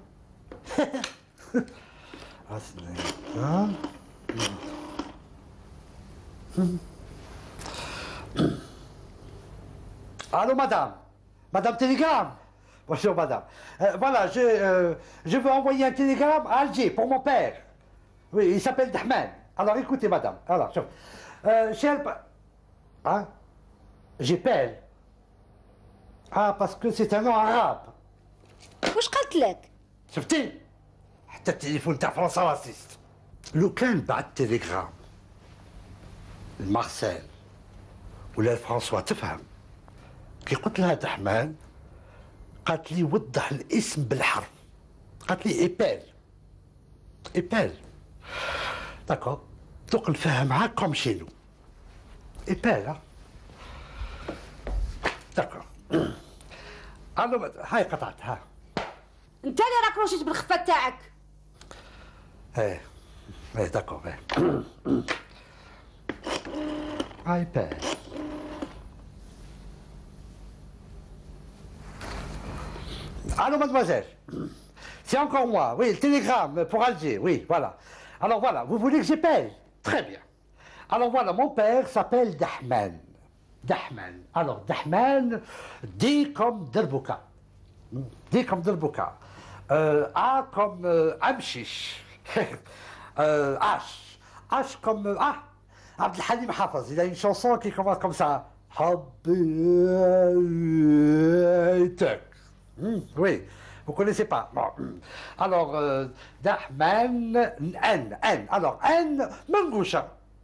F: Allô, Madame Télégramme. Bonjour, madame. Voilà, je veux envoyer un télégramme à Alger pour mon père. Oui, il s'appelle Dahman. Alors, écoutez, madame. Alors, cher... Hein? J'appelle. Parce que c'est un nom arabe.
I: واش قالت لك؟
F: شفتي؟ حتى التليفون تاع فرنسا راسيست. لو كان بعت تليغرام لمارسيل ولا لفرنسوا تفهم، كي قلت لها دحمان قالت لي وضح الاسم بالحرف، قالت لي ايبال داكور، دوك نفهمها كوم شينو ايبال. داكور. الو هاي قطعتها.
I: انت اللي راك روشيت بالخفه تاعك.
F: ايه داكور. ايباد. Allô, mademoiselle. C'est encore moi. Oui, le télégramme pour Alger. Oui, voilà. Alors voilà, vous voulez que j'appelle? Très bien. Alors voilà, mon père s'appelle Dahman. Dahman. Alors, Dahman, D comme Derbouka. D comme Derbouka. A comme Amchish. H. H comme Abdel Halim Hafez. Il a une chanson qui commence comme ça. Oui, vous connaissez pas. Bon. Alors, Dahman, N. Alors, N, Mangoucha.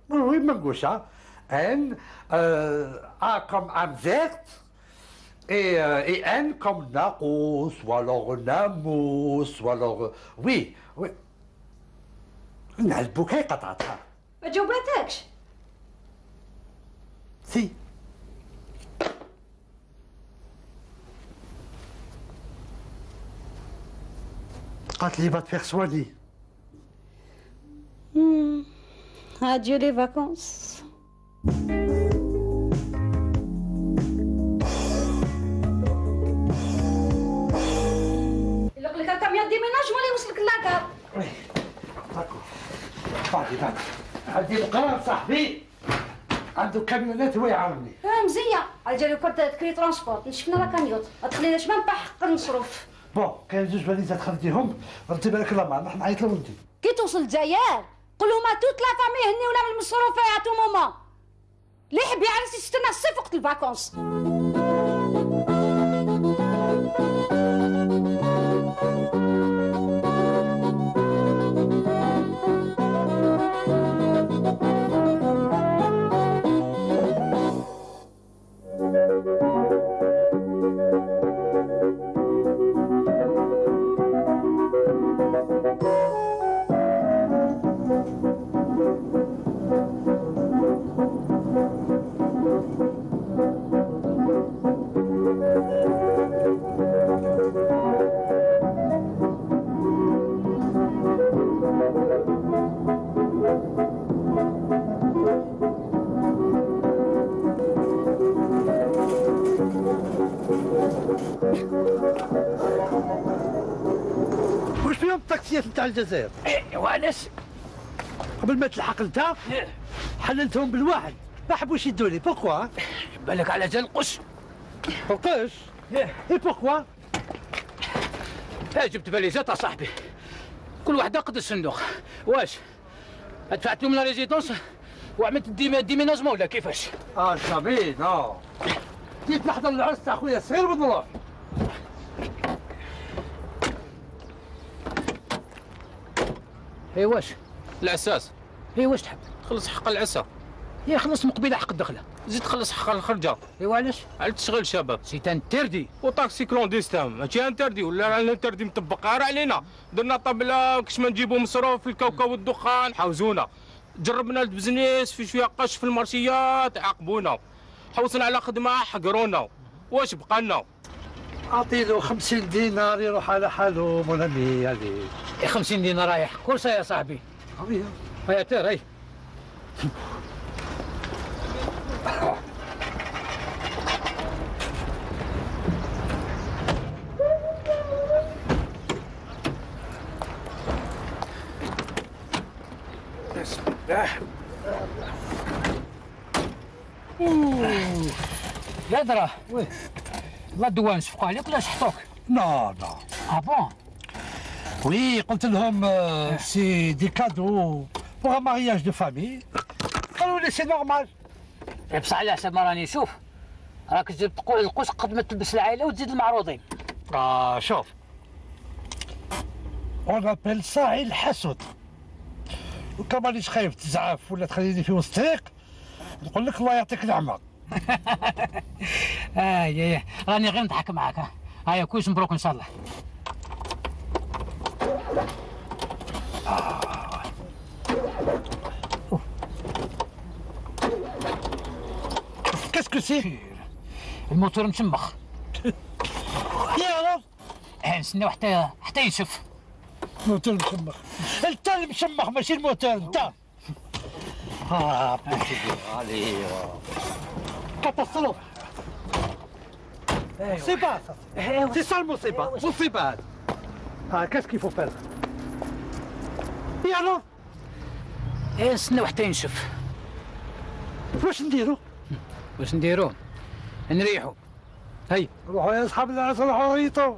F: Oui, Mangoucha. N, A comme Amzert. Et N comme Naros, ou alors Namos, ou alors... Oui. نعلبوك هاي قطعتها.
I: ما جاوباتكش؟
F: سي. قالت لي va te faire soigner.
I: Adieu les vacances. يلق لك الكاميون ديميناج ولا يوصلك لاكار.
F: وي داكور. بعدي عندي القرار صاحبي عنده كاميونات هو يعاونني.
I: مزيه الجيري كنت تكري ترونسبورت نشفنا لا كاميوت ما تخليناش ما نبقى حق المصروف.
F: بون كاين زوج فاليزات خديتيهم ردي بالك الله معنا نروح نعيط لهم انت.
I: كي توصل الجزائر قول لهم توت لا فامي هني ولا من المصروفات تو ماما اللي يحب يعرس يستنى الصيف وقت الفاكونس.
F: واش فيهم الطاكسيات نتاع الجزائر؟
D: وعلاش؟
F: قبل ما تلحق انت حللتهم بالواحد، ما حبوش يدوني، بوكوا؟
D: بالك على جال القش.
F: القش؟ اي بوكوا؟
D: جبت باليزات صاحبي، كل وحده قد الصندوق. واش دفعت لهم لا ريزيدونس وعملت ديميناجمون ولا كيفاش؟
F: صافي نو جيت نحضر العرس تاع خويا الصغير بالظروف.
D: واش
G: العساس
D: واش تحب؟
G: خلص حق العسا.
D: خلص مقبله حق الدخله.
G: زيد خلص حق الخرجه.
D: علاش؟
G: على تشغيل شباب.
D: سي انتردي.
G: وطاكسي كلونديستان ماشي انتردي، ولا الانتردي مطبق غير علينا. درنا طبله كش ما نجيبوا مصروف في الكاوكاو والدخان حوزونا. جربنا البزنيس في شويه قش في المارشيات عاقبونا. حوسنا على خدمه حقرونا. واش بقى لنا؟
F: اعطيله 50 دينار يروح على حاله مولامي عليه.
D: 50 دينار رايح كرسي يا صاحبي. هيا تير هي.
G: بسم الله.
D: لا دراه لا الدوان شفقوا عليك ولا شحطوك؟
F: نو
D: بون؟
F: وي قلت لهم سي دي كادو بوغ ان مارياج دو فامي، قالوا لي سي نورمال.
D: بصح على حسب ما راني نشوف راك تجيب تقول القوس قد ما تلبس العائله وتزيد المعروضين.
F: شوف اون ابيل سا الحسد، وكما مانيش خايف تزعف ولا تخليني في وسط الطريق نقول لك الله يعطيك النعمه.
D: راني غير نضحك معاك. هيا كلش مبروك ان شاء الله.
F: كاسكو سي؟
D: الموتور مشمخ.
F: يا رب
D: نستناو حتى ينشف.
F: الموتور مشمخ؟ انت اللي مشمخ ماشي الموتور انت. علي كاتاستروف. مصيبة سي سا المصيبة، مصيبة هذه. كاسكو يفو فير؟ يا رب
D: نستناو حتى ينشف.
F: واش نديرو؟
D: نريحو. هي
F: روحوا يا اصحاب العرس، روحوا ريطوا.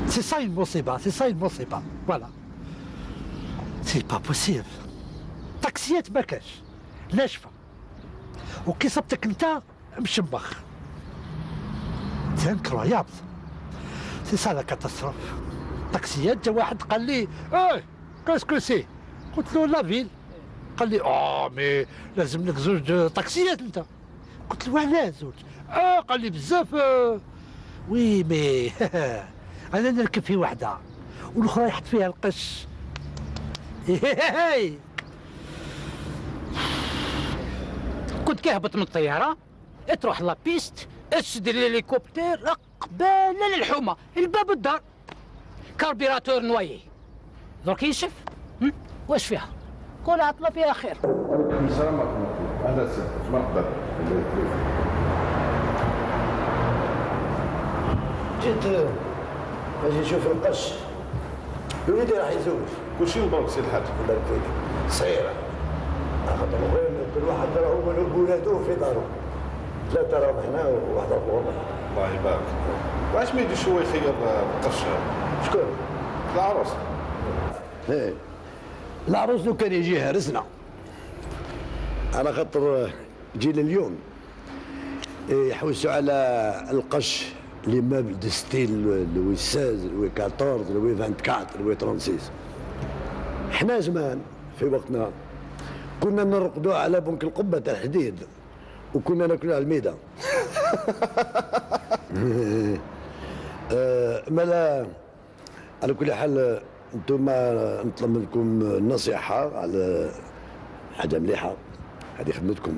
F: سي سا المصيبة، سي سا المصيبة، فوالا. سي با بوسيبل. طاكسيات ما كاش، ناشفة. وكي صبتك انت مشمخ. سي انكرويابل. سي سا لا كاتاستروف. طاكسيات جا واحد قال لي كاسكو سي؟ قلت له لا فيل. قال لي مي لازم لك زوج طاكسيات انت. قلت له علاه زوج؟ قال لي بزاف. وي مي انا نركب في وحده والاخرى يحط فيها القش.
D: كنت كيهبط من الطياره تروح لابيست تشد الهليكوبتر قباله للحومه الباب الدار كاربيراتور نوايي. درك ينشف. واش فيها؟ كل عطله فيها خير.
J: السلام عليكم. اهلا وسهلا. مرحبا.
A: جيت باش نشوف القش. وليدي راح يزوج.
J: كلشي مبروك سي الحاج.
A: يبارك فيك. صغيرة. خاطر وين كل واحد راهو ولادو في دارو. ثلاثة راهم هنا وواحد اخر.
J: الله يبارك. واش ما يديش هو يخير القش؟
A: شكون؟
J: العروس.
A: العروس لو كان يجي هرسنا. على خاطر جيل اليوم يحوسوا على القش لي مeubles دو ستيل لوي 16 لوي 14 لوي 24 لوي 36. حنا زمان في وقتنا كنا نرقدوا على بنك القبة تاع الحديد وكنا ناكلوا على الميدة. مالا على كل حال انتم نطلب منكم نصيحة على حاجة مليحة، هذه خدمتكم،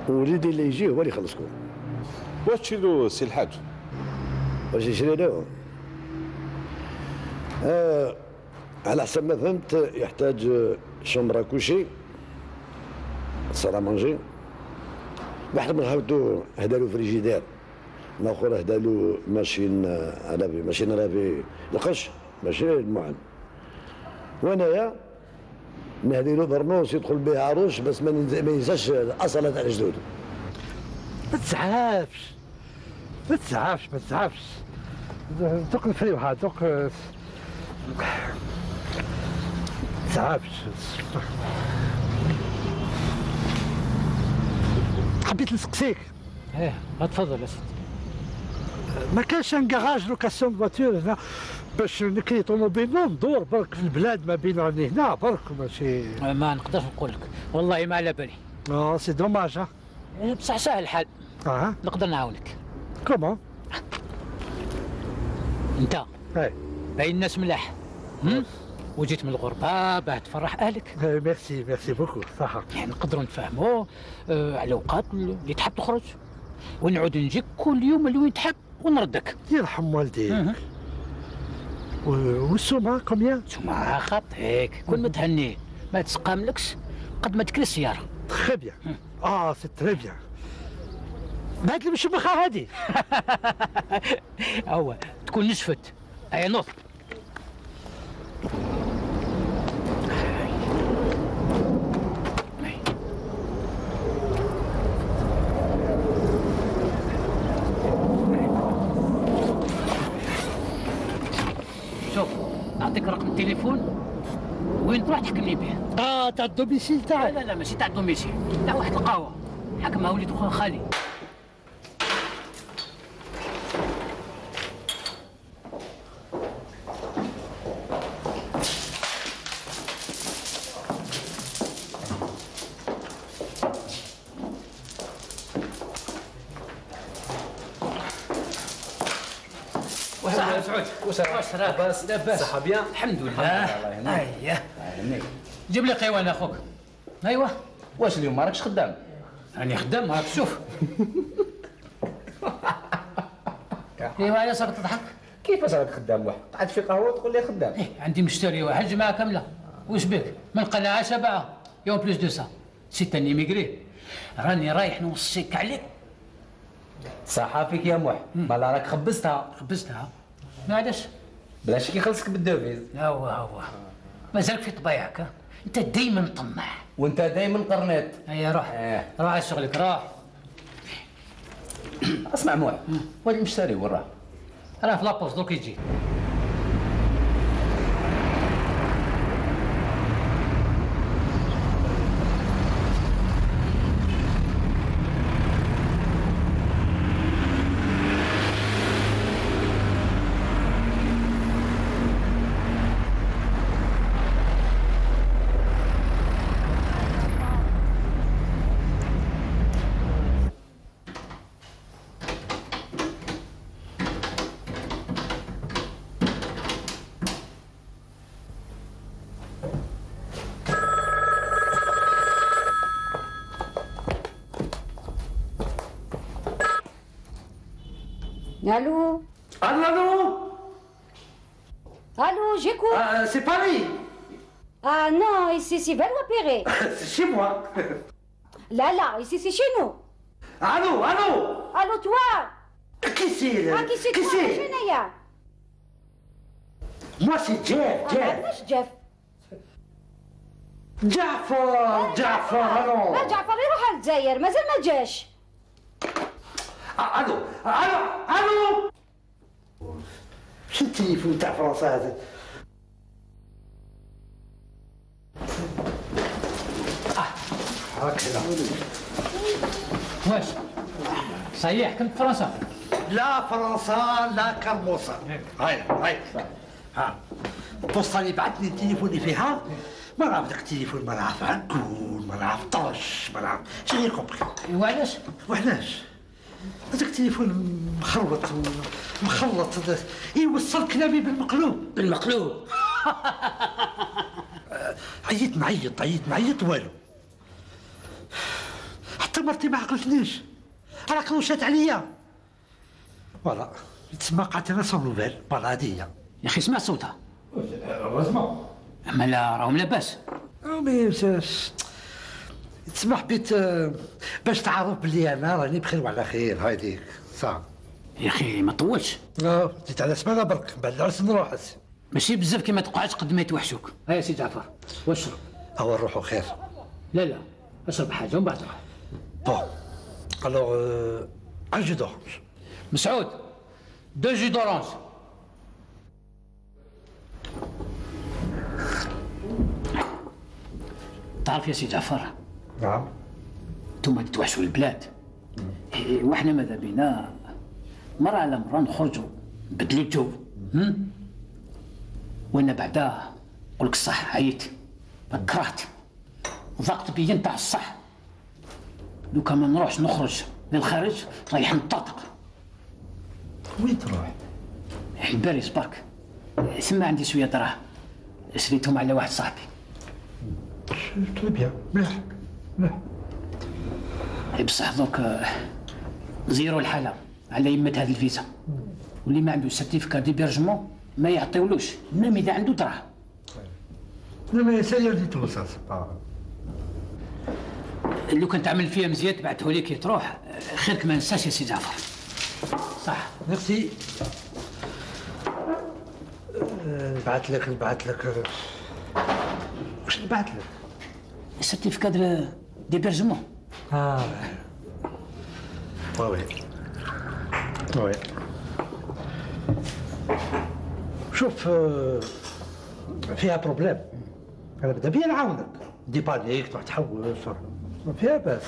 A: وليدي اللي يجي هو اللي يخلصكم.
J: واش تشري له سي الحاج؟
A: واش يشري له؟ على حسب ما فهمت يحتاج شومبرا كوشي، صالة مانجي، واحد من خاوتو هدالو فريجيدير، الاخر هدالو ماشين رافي، ماشين رافي القش ماشي المعن. وانايا نهديلو برنوس يدخل به عروش بس ما ينساش الاصاله تاع جدودو.
F: ما تزعفش ما تزعفش ما تزعفش، دوك نفريوها دوك تزعفش. حبيت نسقسيك.
D: ايه تفضل اسيدي.
F: ما كانش ان كراج لوكاسيون فواتور هنا باش نكري طوموبيل ندور برك في البلاد ما بين راني هنا برك ماشي.
D: ما نقدرش نقول لك والله ما على بالي.
F: سي دوماج.
D: بصح ساهل الحال. نقدر نعاونك.
F: كومون؟
D: انت باين الناس ملاح وجيت من الغربه باه تفرح اهلك.
F: ميرسي ميرسي بوكو صح.
D: يعني نقدروا نتفاهموا على الاوقات اللي تحب تخرج ونعود نجيك كل يوم اللي وين تحب ونردك.
F: يرحم والديك. والسومه كوميان؟
D: السومه خاطيك كون متهني ما تسقاملكش قد ما تكري السياره.
F: تري بيان. سي تري بيان. بعد المشبخه هادي.
D: هو تكون نشفت. اي نوض. شوف نعطيك رقم التليفون وين تروح تحكمني به.
F: تاع الدوميسيل تاعك؟
D: لا ماشي تاع الدوميسيل، تاع واحد القهوه حكمها وليد خويا خالي.
K: سعود واش لاباس؟
D: لاباس
K: صحة بيان؟
D: الحمد لله. الله
K: يهنيك.
D: جيب لي قيوان اخوك. ايوا
K: واش اليوم ما راكش خدام؟
D: راني خدام راك شوف. ايوا علاش راك تضحك؟
K: كيفاش راك خدام واحد؟ قعدت في قهوه تقول لي خدام؟
D: عندي مشتري واحد جماعه كامله. واش بك؟ من قناعه شبعه يوم بلوس دو سا سي تاني ايميغري. راني رايح نوصيك عليك.
K: صحا فيك يا موح، مالا راك خبزتها.
D: خبزتها؟ علاش؟
K: بلاش كيخلصك بالدوفيز.
D: هو مازالك في طبيعك. انت دايما طماع.
K: وانت دايما قرنيط.
D: هيا روح. روح على شغلك روح.
K: اسمع موح، وين المشتري وين راه؟
D: راه في لابوست دوك يجي.
I: Allô? Allô, j'écoute.
F: C'est Paris.
I: Ah non, ici c'est Valois-Perret.
F: C'est chez moi.
I: Là, ici c'est chez nous.
F: Allô?
I: Allô, toi?
F: Qui c'est?
I: Qui c'est toi, Chenaya?
F: Moi c'est Jeff.
I: مش جيف.
F: جعفر.
I: لا جعفر يروح على الجزائر مازال ما جاش.
F: الو شو التليفون تاع فرنسا هذا؟ هكذا.
D: واش صحيح حكمت فرنسا؟
F: لا فرنسا لا كرموسة. هاي البوسطة اللي بعثني تليفوني فيها ما نعرف داك التليفون، ما نعرف عنكون، ما نعرف طرش، ما نعرف شنو كومبري.
D: وعلاش؟
F: هذاك التليفون مخلط يوصل كلامي بالمقلوب. عيط نعيط والو. حتى مرتي ما عقلتنيش، راك روشات عليا. فوالا تسمى قعدت انا سون نوفيل. فوالا هادي هي.
D: يا اخي سمع صوتها.
F: هوزمون.
D: اما لا راهم لاباس.
F: مي تسمح بيت باش تعرف بلي انا راني بخير وعلى خير هايديك صح.
D: يا اخي ما طولش.
F: جيت على سمانه برك بعد العرس نروح.
D: ماشي بزاف كي ما تقعدش قد ما يتوحشوك. هيا سي جعفر واشرب.
F: هو نروحوا خير.
D: لا اشرب حاجه ومن بعد روح.
F: بون الوغ ان جو دورانج.
D: مسعود 2 جو دورانج. تعرف يا سي جعفر.
F: نعم.
D: انتوما تتوحشوا البلاد. واحنا ماذا بينا مرة على مرة نخرجوا نبدلوا الجو. وانا بعدا نقول لك الصح عييت كرهت ضاقت بيا نتاع الصح. لو كان ما نروحش نخرج للخارج رايح نطرطق.
F: وين تروح؟
D: لباريس برك. ثم عندي شويه دراهم شريتهم على واحد صاحبي.
F: تري بيان مليح.
D: بصح دوك زيرو الحاله على يمة هذه الفيزا. واللي ما عنده سيرتيفيكا ديبيرجمون ما يعطيولوش ميم اذا عنده دراهم.
F: لا مي سي ريان دي تو سا
D: لو كان تعمل فيها مزيان تبعته لي كي تروح خيرك ما ننساش يا سي جعفر. صح.
F: ميرسي. نبعث لك واش نبعث لك؟
D: السيرتيفيكا ديبيرجمون.
F: وي شوف فيها بروبليم. انا بدا بيا نعاونك ديبانيك تروح تحوس ما فيها باس.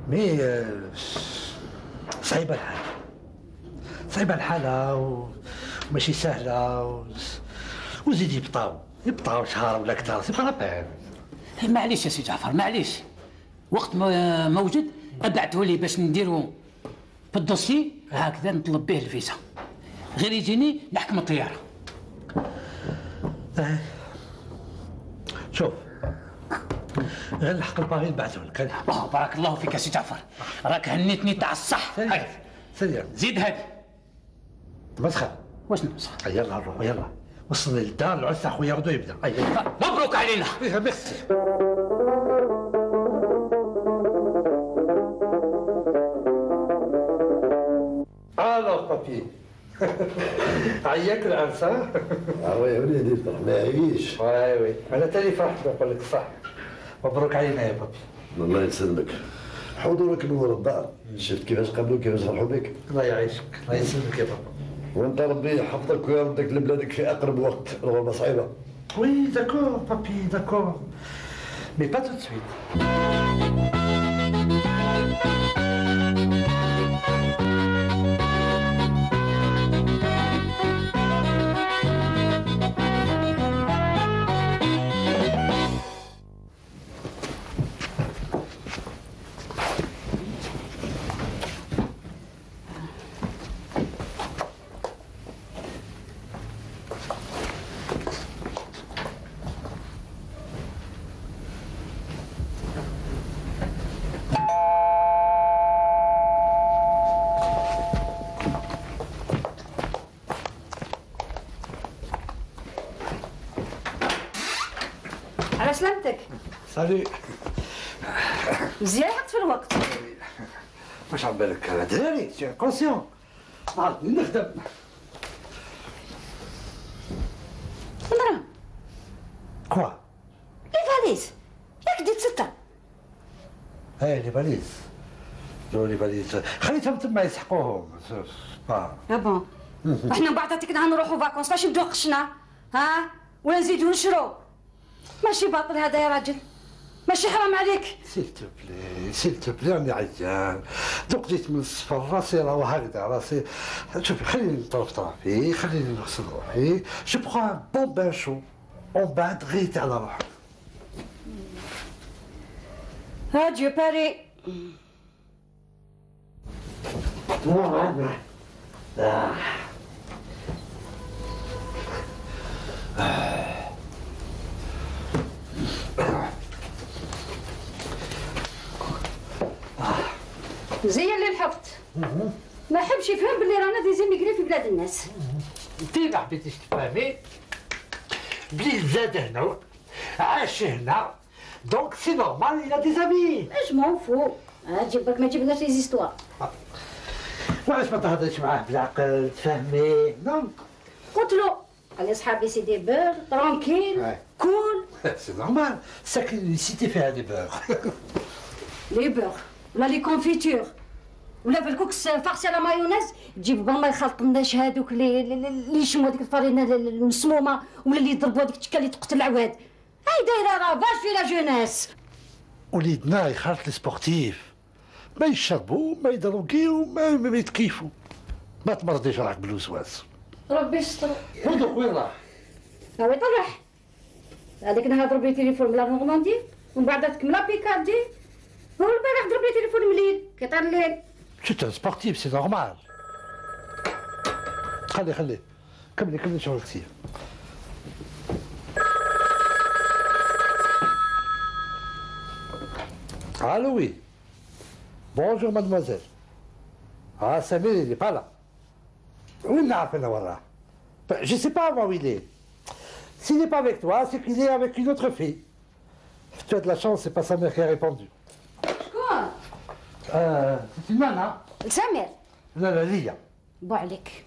F: مي صعيبه الحاله وماشي سهله وزيد يبطاو شهر ولا اكثر سي با لابان.
D: معليش يا سي جعفر معليش. وقت ما موجود ابعته لي باش نديرو في الدوسي هكذا نطلب به الفيزا. غير يجيني نحكم الطياره.
F: شوف غير نحق الباغي نبعثه لك.
D: بارك الله فيك يا سي جعفر راك هنيتني تاع الصح.
F: سريع
D: زيد هذا
F: مسخر.
D: واش نمسخ؟
F: يلا نروح يلا وصلنا للدار العرس تاع خويا غدو يبدا.
D: مبروك علينا.
F: ميرسي. الو بابي عياك العرس ها؟
A: وي وليدي فرح ما يعيش.
F: وي انا تاني فرحت نقول لك صح. مبروك علينا يا بابي.
A: الله يسلمك. حضورك نور الدار شفت كيفاش قبلوا كيفاش فرحوا بك.
F: الله يعيشك الله يسلمك يا بابا.
A: وانت ربي يحفظك ويردك لبلادك في اقرب وقت. الغربه صعيبه.
F: وي داكور بابي داكور مي با تو سويت.
I: على سلامتك.
F: سالي.
I: مزيان لحقت في الوقت.
F: واش عم بالك انا دراري سي كونسيون عرفتني نخدم.
I: دراهم.
F: كوا؟
I: لي فاليز ياك ديت 6.
F: لي فاليز لي فاليز خليتهم تما يسحقوهم.
I: بون احنا من بعد عطيكنا نروحوا فاكونس ماشي نبداو قشنا ها ولا نزيدو نشرو. ماشي باطل هذا يا راجل ماشي حرام عليك.
F: سيل تو بلي راني عيان دوك جيت من الصفر راسي راهو هكذا راسي. شوفي خليني نطرف طرفي خليني نغسل روحي جو بخوا ان بون بان شو ومن بعد غيت على روحي.
I: اديو باري. زي اللي لحقت ما حبش يفهم باللي رانا دي زيميغري في بلاد الناس.
F: انت ما حبيتيش تفهمي بلي زاد هنا عاش هنا دونك سي نورمال il a des amis.
I: اش مون فو تجيبك ما تجيبناش لي زيستوار.
F: وعلاش ما تهضرش معاه بالعقل تفهميه؟ نو
I: قلت له قال صحابي سي دي بور ترونكيل كول.
F: سي نورمال ساكن سيتي فيها دي بور.
I: لي بور ولا لي كونفيتور ولا في الكوكس فارسي على مايونيز تجيب ما يخلط لناش هذوك اللي يشموا هذيك الفرينه المسمومه ولا اللي يضربوا هذيك التكه اللي تقتل العواد. هاي دايره رافاج في لا جونيس.
F: وليدنا يخالط لي سبورتيف ما يشربوا ما يدروكيو ما يتكيفوا. ما تمرضيش راك بالوسواس.
I: ربي يستر.
F: هذوك وين راح؟
I: هاو يطرح هذيك نهار ضرب لي تليفون من لا نورماندي ومن بعد تكمل بيكاردي. هو البارح ضرب لي تليفون مليل كي طار الليل.
F: C'est un sportif, c'est normal. خلي كملي شغلك سير. Allô, oui. Bonjour, mademoiselle. Ah, Samir, il n'est pas là. Oui, il n'a appelé là. Je ne sais pas moi où il est. S'il n'est pas avec toi, c'est qu'il est avec une autre fille. Tu as de la chance, c'est pas sa mère qui a répondu.
I: Quoi?
F: C'est une nana.
I: سامر.
F: لا ليا.
I: بو عليك.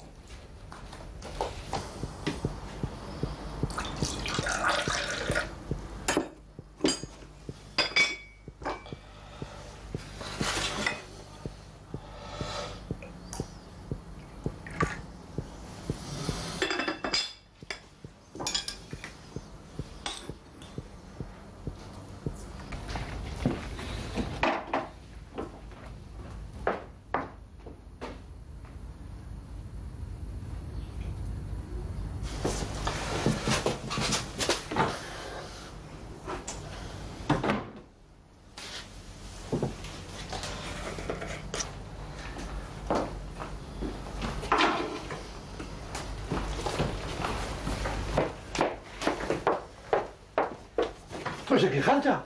F: واش خالتها؟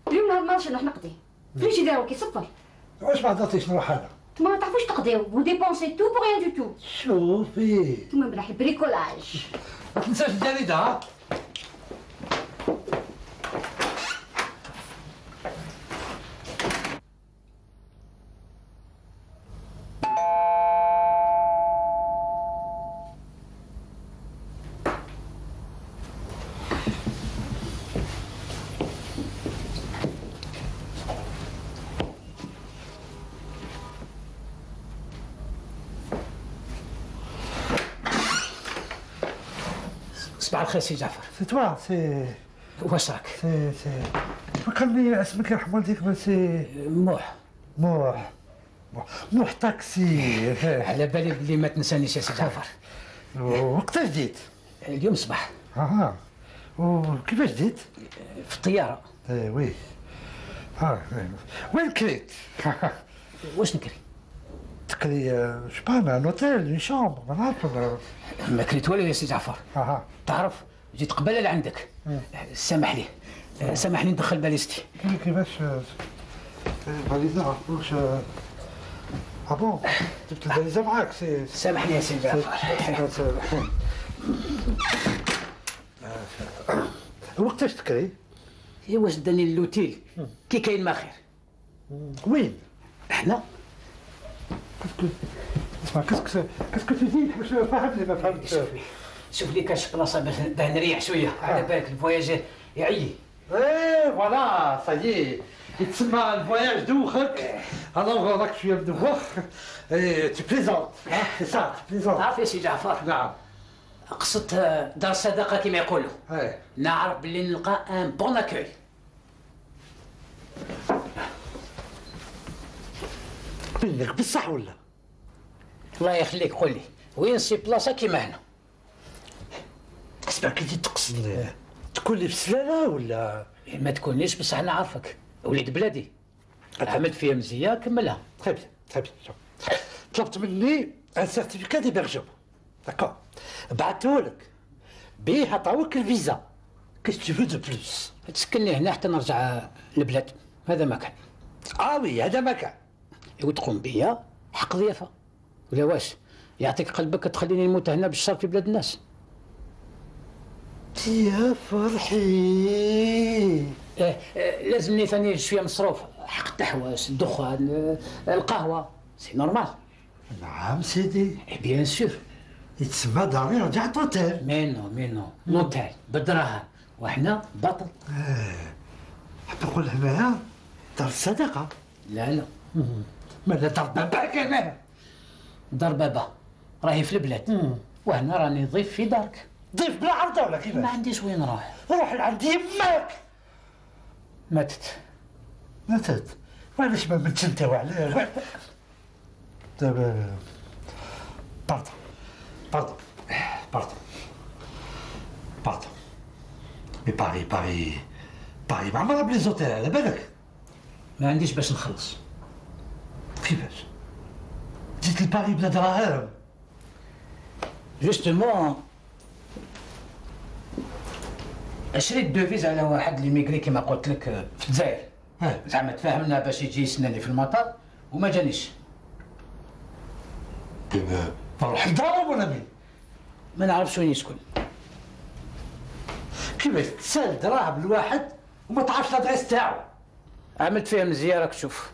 I: اليوم نهار مارش نروح نقضي. فليش يديروا كيصفر؟
F: واش ما هضرتيش نروح انا؟
I: نتوما ما تعرفوش تقضيو وديبونسي تو بو ريان دو تو.
F: شوفي
I: نتوما ملاحي بريكولاج.
F: ما تنساش الجريده ها؟
D: صباح الخير سي جعفر.
F: سي توا سي
D: واش راك؟
F: سي فكرني اسمك يرحم والديك من سي موح تاكسي.
D: على بالي بلي ما تنسانيش يا سي جعفر.
F: وقتاش جيت؟
D: اليوم صباح.
F: وكيفاش جيت؟
D: في الطياره.
F: وي وين كريت؟
D: واش نكري؟
F: تكري شبانا ان اوتيل اون شامبر ما نعرفش.
D: ما كريت والو يا سي جعفر. تعرف جيت قبل لعندك. سامحني ندخل باليستي.
F: كيفاش الفاليزه واش بون جبت الفاليزه معاك سي.
D: سامحني يا سي جعفر.
F: وقتاش تكري؟
D: واش داني اللوتيل كي كاين ما خير.
F: وين؟
D: هنا.
F: اسمع كاسكو تزيد باش فهمني ما فهمتش.
D: شوف لي كاش بلاصه باه نريح شويه. على بالك الفواياجير يعيي.
F: فوالا سايي يتسمى الفواياج دوخك. الوغ راك شويه مدوخ. تي بليزونت سي سا تي بليزونت.
D: تعرف يا سي جعفر.
F: نعم.
D: قصة دار الصداقة كما يقولوا. نعرف باللي نلقى ان بون اكوي.
F: منك بصح ولا؟
D: الله يخليك قول لي وين سي بلاصة كيما هنا؟
F: اسمع كي تقصد تكون لي في السلالة ولا؟
D: ما تكونيش بصح انا عارفك وليد بلادي. عملت فيها مزية كملها.
F: تري بيان طلبت مني ان سيرتيفيكا ديبيرجمون داكور بعثتهولك بيه عطاوك الفيزا. كيس تو فو دو بلوس؟
D: تسكني هنا حتى نرجع للبلاد. هذا ما كان.
F: وي هذا ما كان.
D: وتقوم بيا حق ضيافة ولا واش؟ يعطيك قلبك تخليني نموت هنا بالشر في بلاد الناس.
F: يا فرحي.
D: لازمني ثاني شويه مصروف، حق التحواس، الدخان، القهوه، سي نورمال.
F: نعم سيدي.
D: بيان سور.
F: يتسمى داري رجعت اوتيل.
D: مينو لوتيل بالدراهم وحنا بطل.
F: حتى نقول هنايا دار الصدقه.
D: لا
F: مالا دار بابا كمان.
D: دار بابا راهي في البلاد، وهنا راني ضيف في دارك.
F: ضيف بلا عرضه ولا كيفاش؟
D: ما عنديش وين نروح.
F: روح لعند يماك.
D: ماتت.
F: وعلاش ما متش انت وعلاش؟ دابا باردون مي باري معمرة بلي زوتيل على بالك.
D: ما عنديش باش نخلص.
F: كيفاش؟ جيت لباري بلا دراهم.
D: جوستومون شريت دوفيز على واحد اللي ميغري كيما قلت لك في الجزائر. زعما تفاهمنا باش يجي يسناني في المطار وما جانيش.
F: دابا نروح لدارهم ولا مين؟
D: ما نعرفش وين يسكن.
F: كيفاش تسال دراهم لواحد وما تعرفش لادريس تاعو؟
D: عملت فيها مزيان راك تشوف.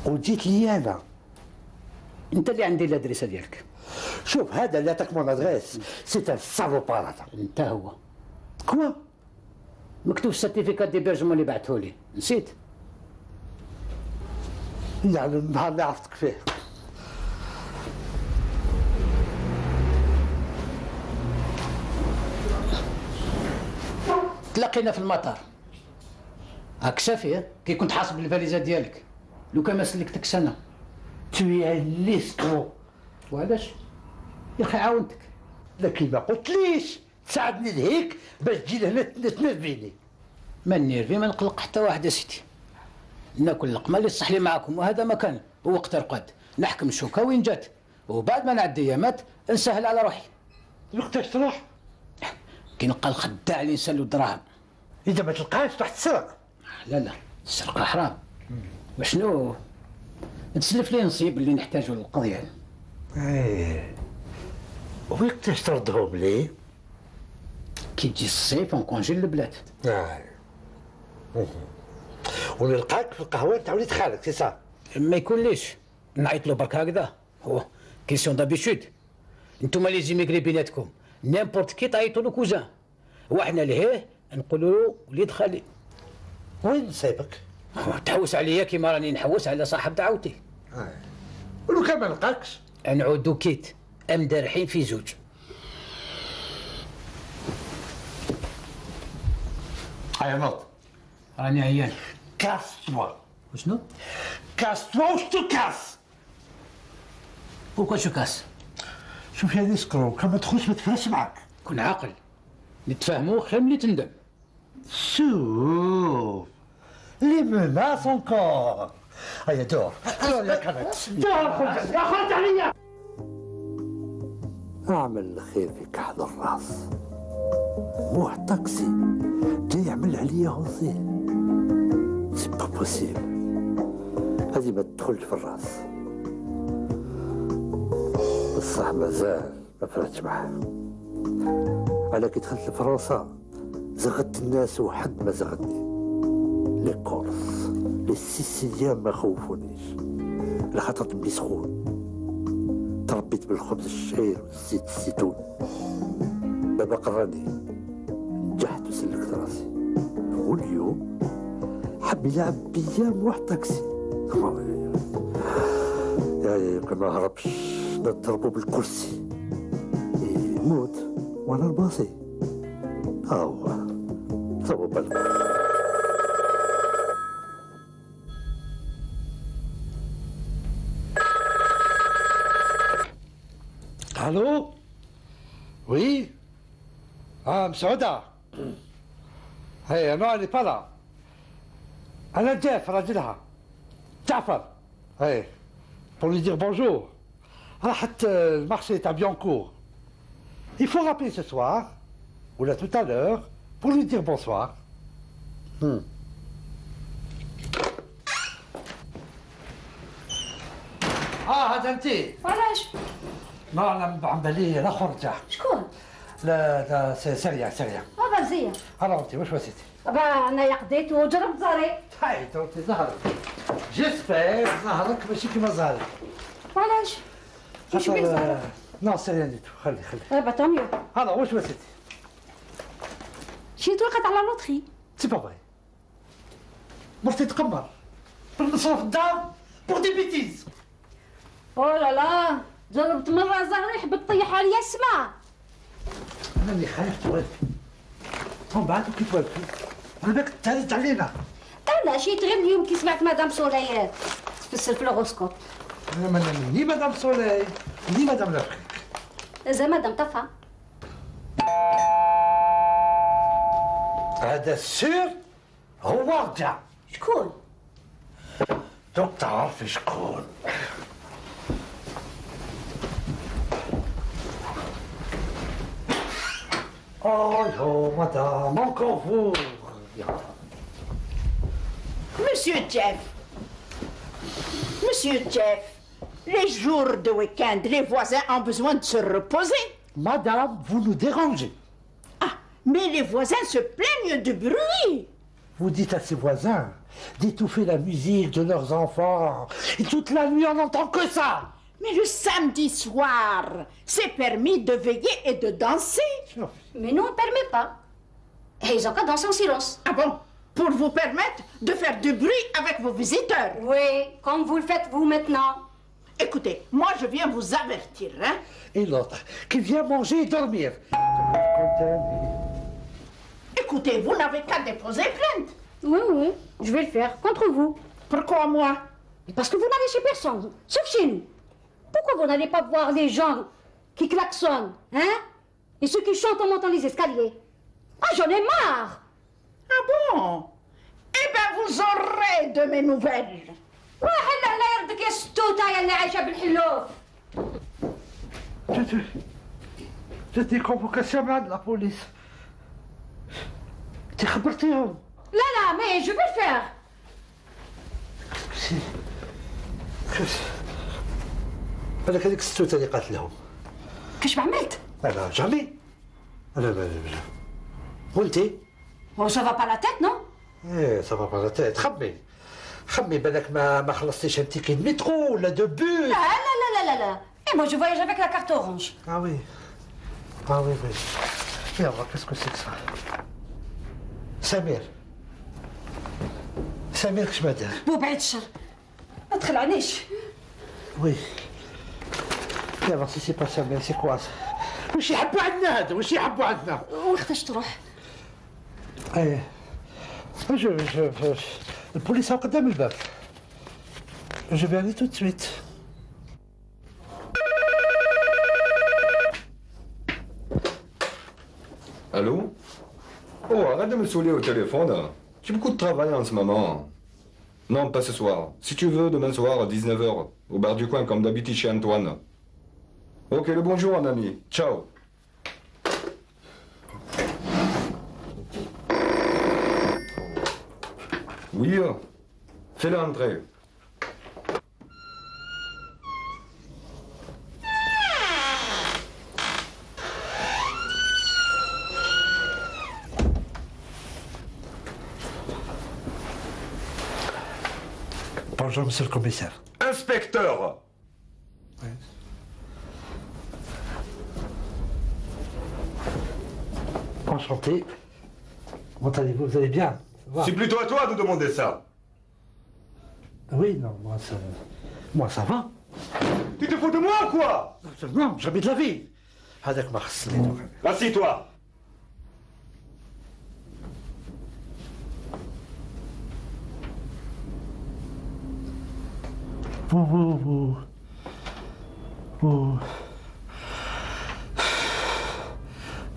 F: وجيت لي انا.
D: انت اللي عندي الادريسه ديالك.
F: شوف هذا لا تاك مون ادريس سي ان سالوبار هذا.
D: انت هو.
F: كوا؟
D: مكتوب السيرتيفيكات ديبيرجمون اللي بعثهولي، نسيت؟
F: يعني النهار اللي عرفتك فيه.
D: تلاقينا في المطار. هاك شافي كي كنت حاسب الفاليزه ديالك، لو كان ما سلكتكش انا.
F: توي ليسترو.
D: وعلاش؟ يا اخي عاونتك.
F: لكن ما قلتليش تساعدني لهيك باش تجي لهنا تنرفيني.
D: ما نيرفي ما نقلق حتى واحد يا سيدي. ناكل اللقمه اللي تصح لي معاكم، وهذا مكان ووقت رقد نحكم الشوكه وين جات، وبعد ما نعدي ايامات نسهل على روحي.
F: وقتاش تروح؟
D: كي نلقى الخداع اللي نسالو الدراهم.
F: اذا ما تلقاهاش تروح تسرق.
D: لا السرقه حرام. وشنو؟ تسلف لي نصيب اللي نحتاجو للقضيه.
F: وقتاش تردهم لي؟
D: كي تجي الصيف ونكونجي للبلاد.
F: ونلقاك في القهوه تاع وليد خالك سي صا؟
D: ما يكونليش نعيط له برك هكذا، هو كيسيون دابيتود. انتوما لي زيميغري بيناتكم نيمبورت كي تعيطوا له كوزان، وحنا لهيه نقولوا له وليد خالي.
F: وين نصيبك؟
D: تحوس عليا كيما راني نحوس على صاحب دعوتي.
F: ولو كان ما لقاكش
D: نعودو كيت امدارحين في زوج.
F: هيا نوض.
D: راني عيان.
F: كاس توا.
D: وشنو؟
F: كاس توا واش تكاس؟
D: بوركوا شو كاس؟
F: شوف يا نسكرو كان ما تدخلش ما تفرش معاك.
D: كون عاقل نتفاهموا خير ملي تندم.
F: شوف لي مناس انكور. هيا دور يا كانت دور خرج عليا. اعمل الخير في كحل الراس. مو طاكسي جاي يعمل عليا غوصين. سي با بوسيبل. هذه ما تدخلش في الراس. بصح مازال ما فرحتش معاه. على كي دخلت لفرنسا زغدت الناس وحد ما زغدني. لي كورس لي سيسيليان ما خوفونيش لخاطر تبي سخون. تربيت بالخبز الشعير والزيت الزيتون. بابا قراني نجحت وسلكت راسي، واليوم حب يلعب بيا واحد طاكسي. يا كان ما هربش نضربو بالكرسي يموت وانا الباصي. هو سووا بالك. الو وي مسعودة. هي انا اللي با. انا جاف راجلها جعفر. هي pour lui dire bonjour. راحت المارشي تاع بيانكور. Il faut rappeler ce soir ou là tout à l'heure pour lui dire bonsoir. هذا انت.
I: علاش؟
F: لا انا عم بالي لا خرجه.
I: شكون؟
F: لا سريع.
I: هذا مزيان.
F: هلا انت واش وسيتي؟
I: انا قضيت وجربت زهري.
F: هاي انت زهرك. جيسبر زهرك ماشي كيما زهري.
I: علاش؟ واش بيه زهرك؟
F: نو سريع ديتو خلي.
I: با طونيو.
F: هلا واش وسيتي؟
I: شي توقعت على لوطخي.
F: سي با فري. مرتي تقمر. نصرف الدار بور دي بيتيز.
I: او لا جربت مره زهري حبت تطيح عليا السما.
F: انا اللي خايف توالفي. ومن بعد كي توالفي على بالك تهرج علينا.
I: لا شي غير اليوم كي سمعت مدام سوليات تفسر في الهوروسكوب.
F: انا ني مدام سولي ني مدام لافريك.
I: زي مدام طفا.
F: هذا السير هو رجع.
I: شكون؟
F: دوك تعرفي شكون. Oh, madame, encore vous.
B: Monsieur Jeff, les jours de week-end, les voisins ont besoin de se reposer.
F: Madame, vous nous dérangez.
B: Ah, mais les voisins se plaignent du bruit.
F: Vous dites à ces voisins d'étouffer la musique de leurs enfants. Et toute la nuit, on n'entend que ça.
B: Mais le samedi soir, c'est permis de veiller et de danser.
I: Mais nous, on ne permet pas. Et ils ont qu'à danser en silence.
B: Ah bon? Pour vous permettre de faire du bruit avec vos visiteurs.
I: Oui, comme vous le faites vous maintenant.
B: Écoutez, moi je viens vous avertir, hein.
F: Et l'autre, qui vient manger et dormir.
B: Écoutez, vous n'avez qu'à déposer plainte.
I: Oui, je vais le faire, contre vous.
B: Pourquoi moi?
I: Parce que vous n'allez chez personne, sauf chez nous. Pourquoi vous n'allez pas voir les gens qui klaxonnent, hein? Et ceux qui chantent en montant les escaliers? Ah, j'en ai marre!
B: Ah bon? Eh ben, vous aurez de mes nouvelles.
I: واحد الله يردك يا ستوته يا اللي عايشه بالحلوف.
F: جاتني كونفوكاسيون مع لا بوليس. انت خبرتيهم؟
I: لا مي جو في الفير.
F: بالك هذيك الستوته اللي قالت لهم.
I: كاش عملت؟
F: لا جامي. لا. وانتي؟
I: هو سافا با لا تيت نو؟
F: ايه سافا با لا تيت. خمي بالك ما خلصتيش انت كي المترو ولا دو بوس.
I: لا. Et moi je voyage avec la carte orange.
F: Ah oui. Et alors, qu'est-ce que c'est que ça? سمير كش ما دار؟
I: بو بعيد الشر. ما تخلعنيش.
F: وي. Et alors si c'est pas Samir, c'est quoi ça? واش يحبوا عندنا هذا؟ واش يحبوا عندنا؟
I: وقتاش تروح؟
F: ايه. البوليس قدام الباب. Je vais aller tout de suite.
E: Allô? Oh, arrête de me saouler au téléphone. J'ai beaucoup de travail en ce moment. Non, pas ce soir. Si tu veux, demain soir à 19h, au bar du coin, comme d'habitude chez Antoine. Ok, le bonjour, mon ami. Ciao. Oui, fais-le entrer.
F: Bonjour, monsieur le commissaire.
E: Inspecteur!
F: Oui. Enchanté. Comment allez-vous? Vous allez bien?
E: C'est plutôt à toi de demander ça.
F: Oui, non, moi ça va.
E: Tu te fous de moi ou quoi?
F: Non, jamais de la vie. هذاك ما خصني.
E: Assieds-toi.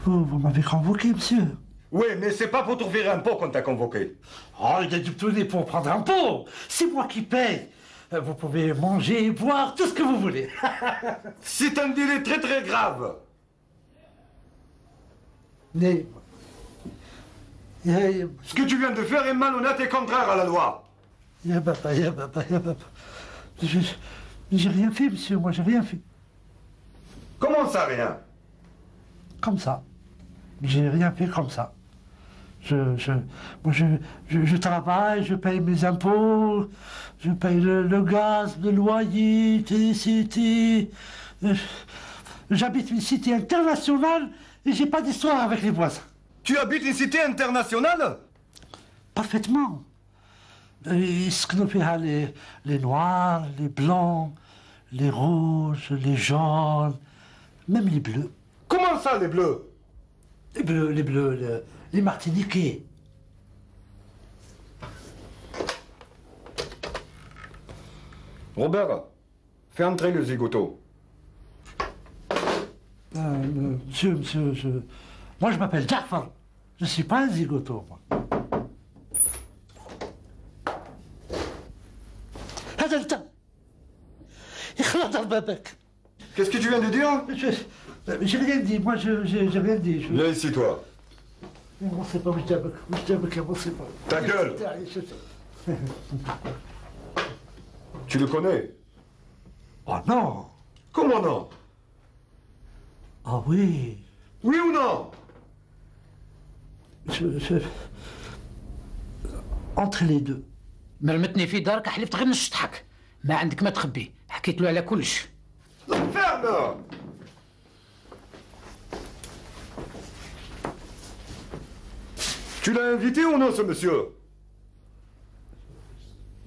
F: Vous m'avez convoqué, monsieur.
E: Oui, mais c'est pas pour t'ouvrir un pot qu'on t'a convoqué.
F: Oh, il y a du tonner pour prendre un pot. C'est moi qui paye. Vous pouvez manger, boire, tout ce que vous voulez.
E: C'est un délai très très grave.
F: Mais...
E: Ce que tu viens de faire est malhonnête et contraire à la loi.
F: يا بابا J'ai rien fait, monsieur, moi j'ai rien fait.
E: Comment ça, rien?
F: Comme ça. J'ai rien fait comme ça. Je travaille, je paye mes impôts, je paye le gaz, le loyer, l'électricité. J'habite une cité internationale et j'ai pas d'histoire avec les voisins.
E: Tu habites une cité internationale?
F: Parfaitement. يسكنوا فيها les noirs, les blancs, les rouges, les jaunes, même les bleus.
E: Comment ça, les bleus?
F: Les bleus, les martiniquais.
E: Robert, fais entrer le zigoto.
F: Monsieur, moi je m'appelle Jafar. Je ne suis pas un zigoto, moi. هذا انت يخلط بابك.
E: Qu'est-ce que tu viens de dire?
F: J'ai rien dit, moi j'ai rien dit.
E: Viens ici, toi.
F: On sait pas où je t'aime, on sait pas.
E: Ta gueule! Tu le connais?
F: Oh non!
E: Comment non?
F: Ah oui!
E: Oui ou non?
F: Entre les deux.
D: مرمتني في دارك حلفت غير نشطحك. ما عندك ما تخبي، حكيت له على كلش.
E: Ferme! Tu l'as invité ou non, ce monsieur?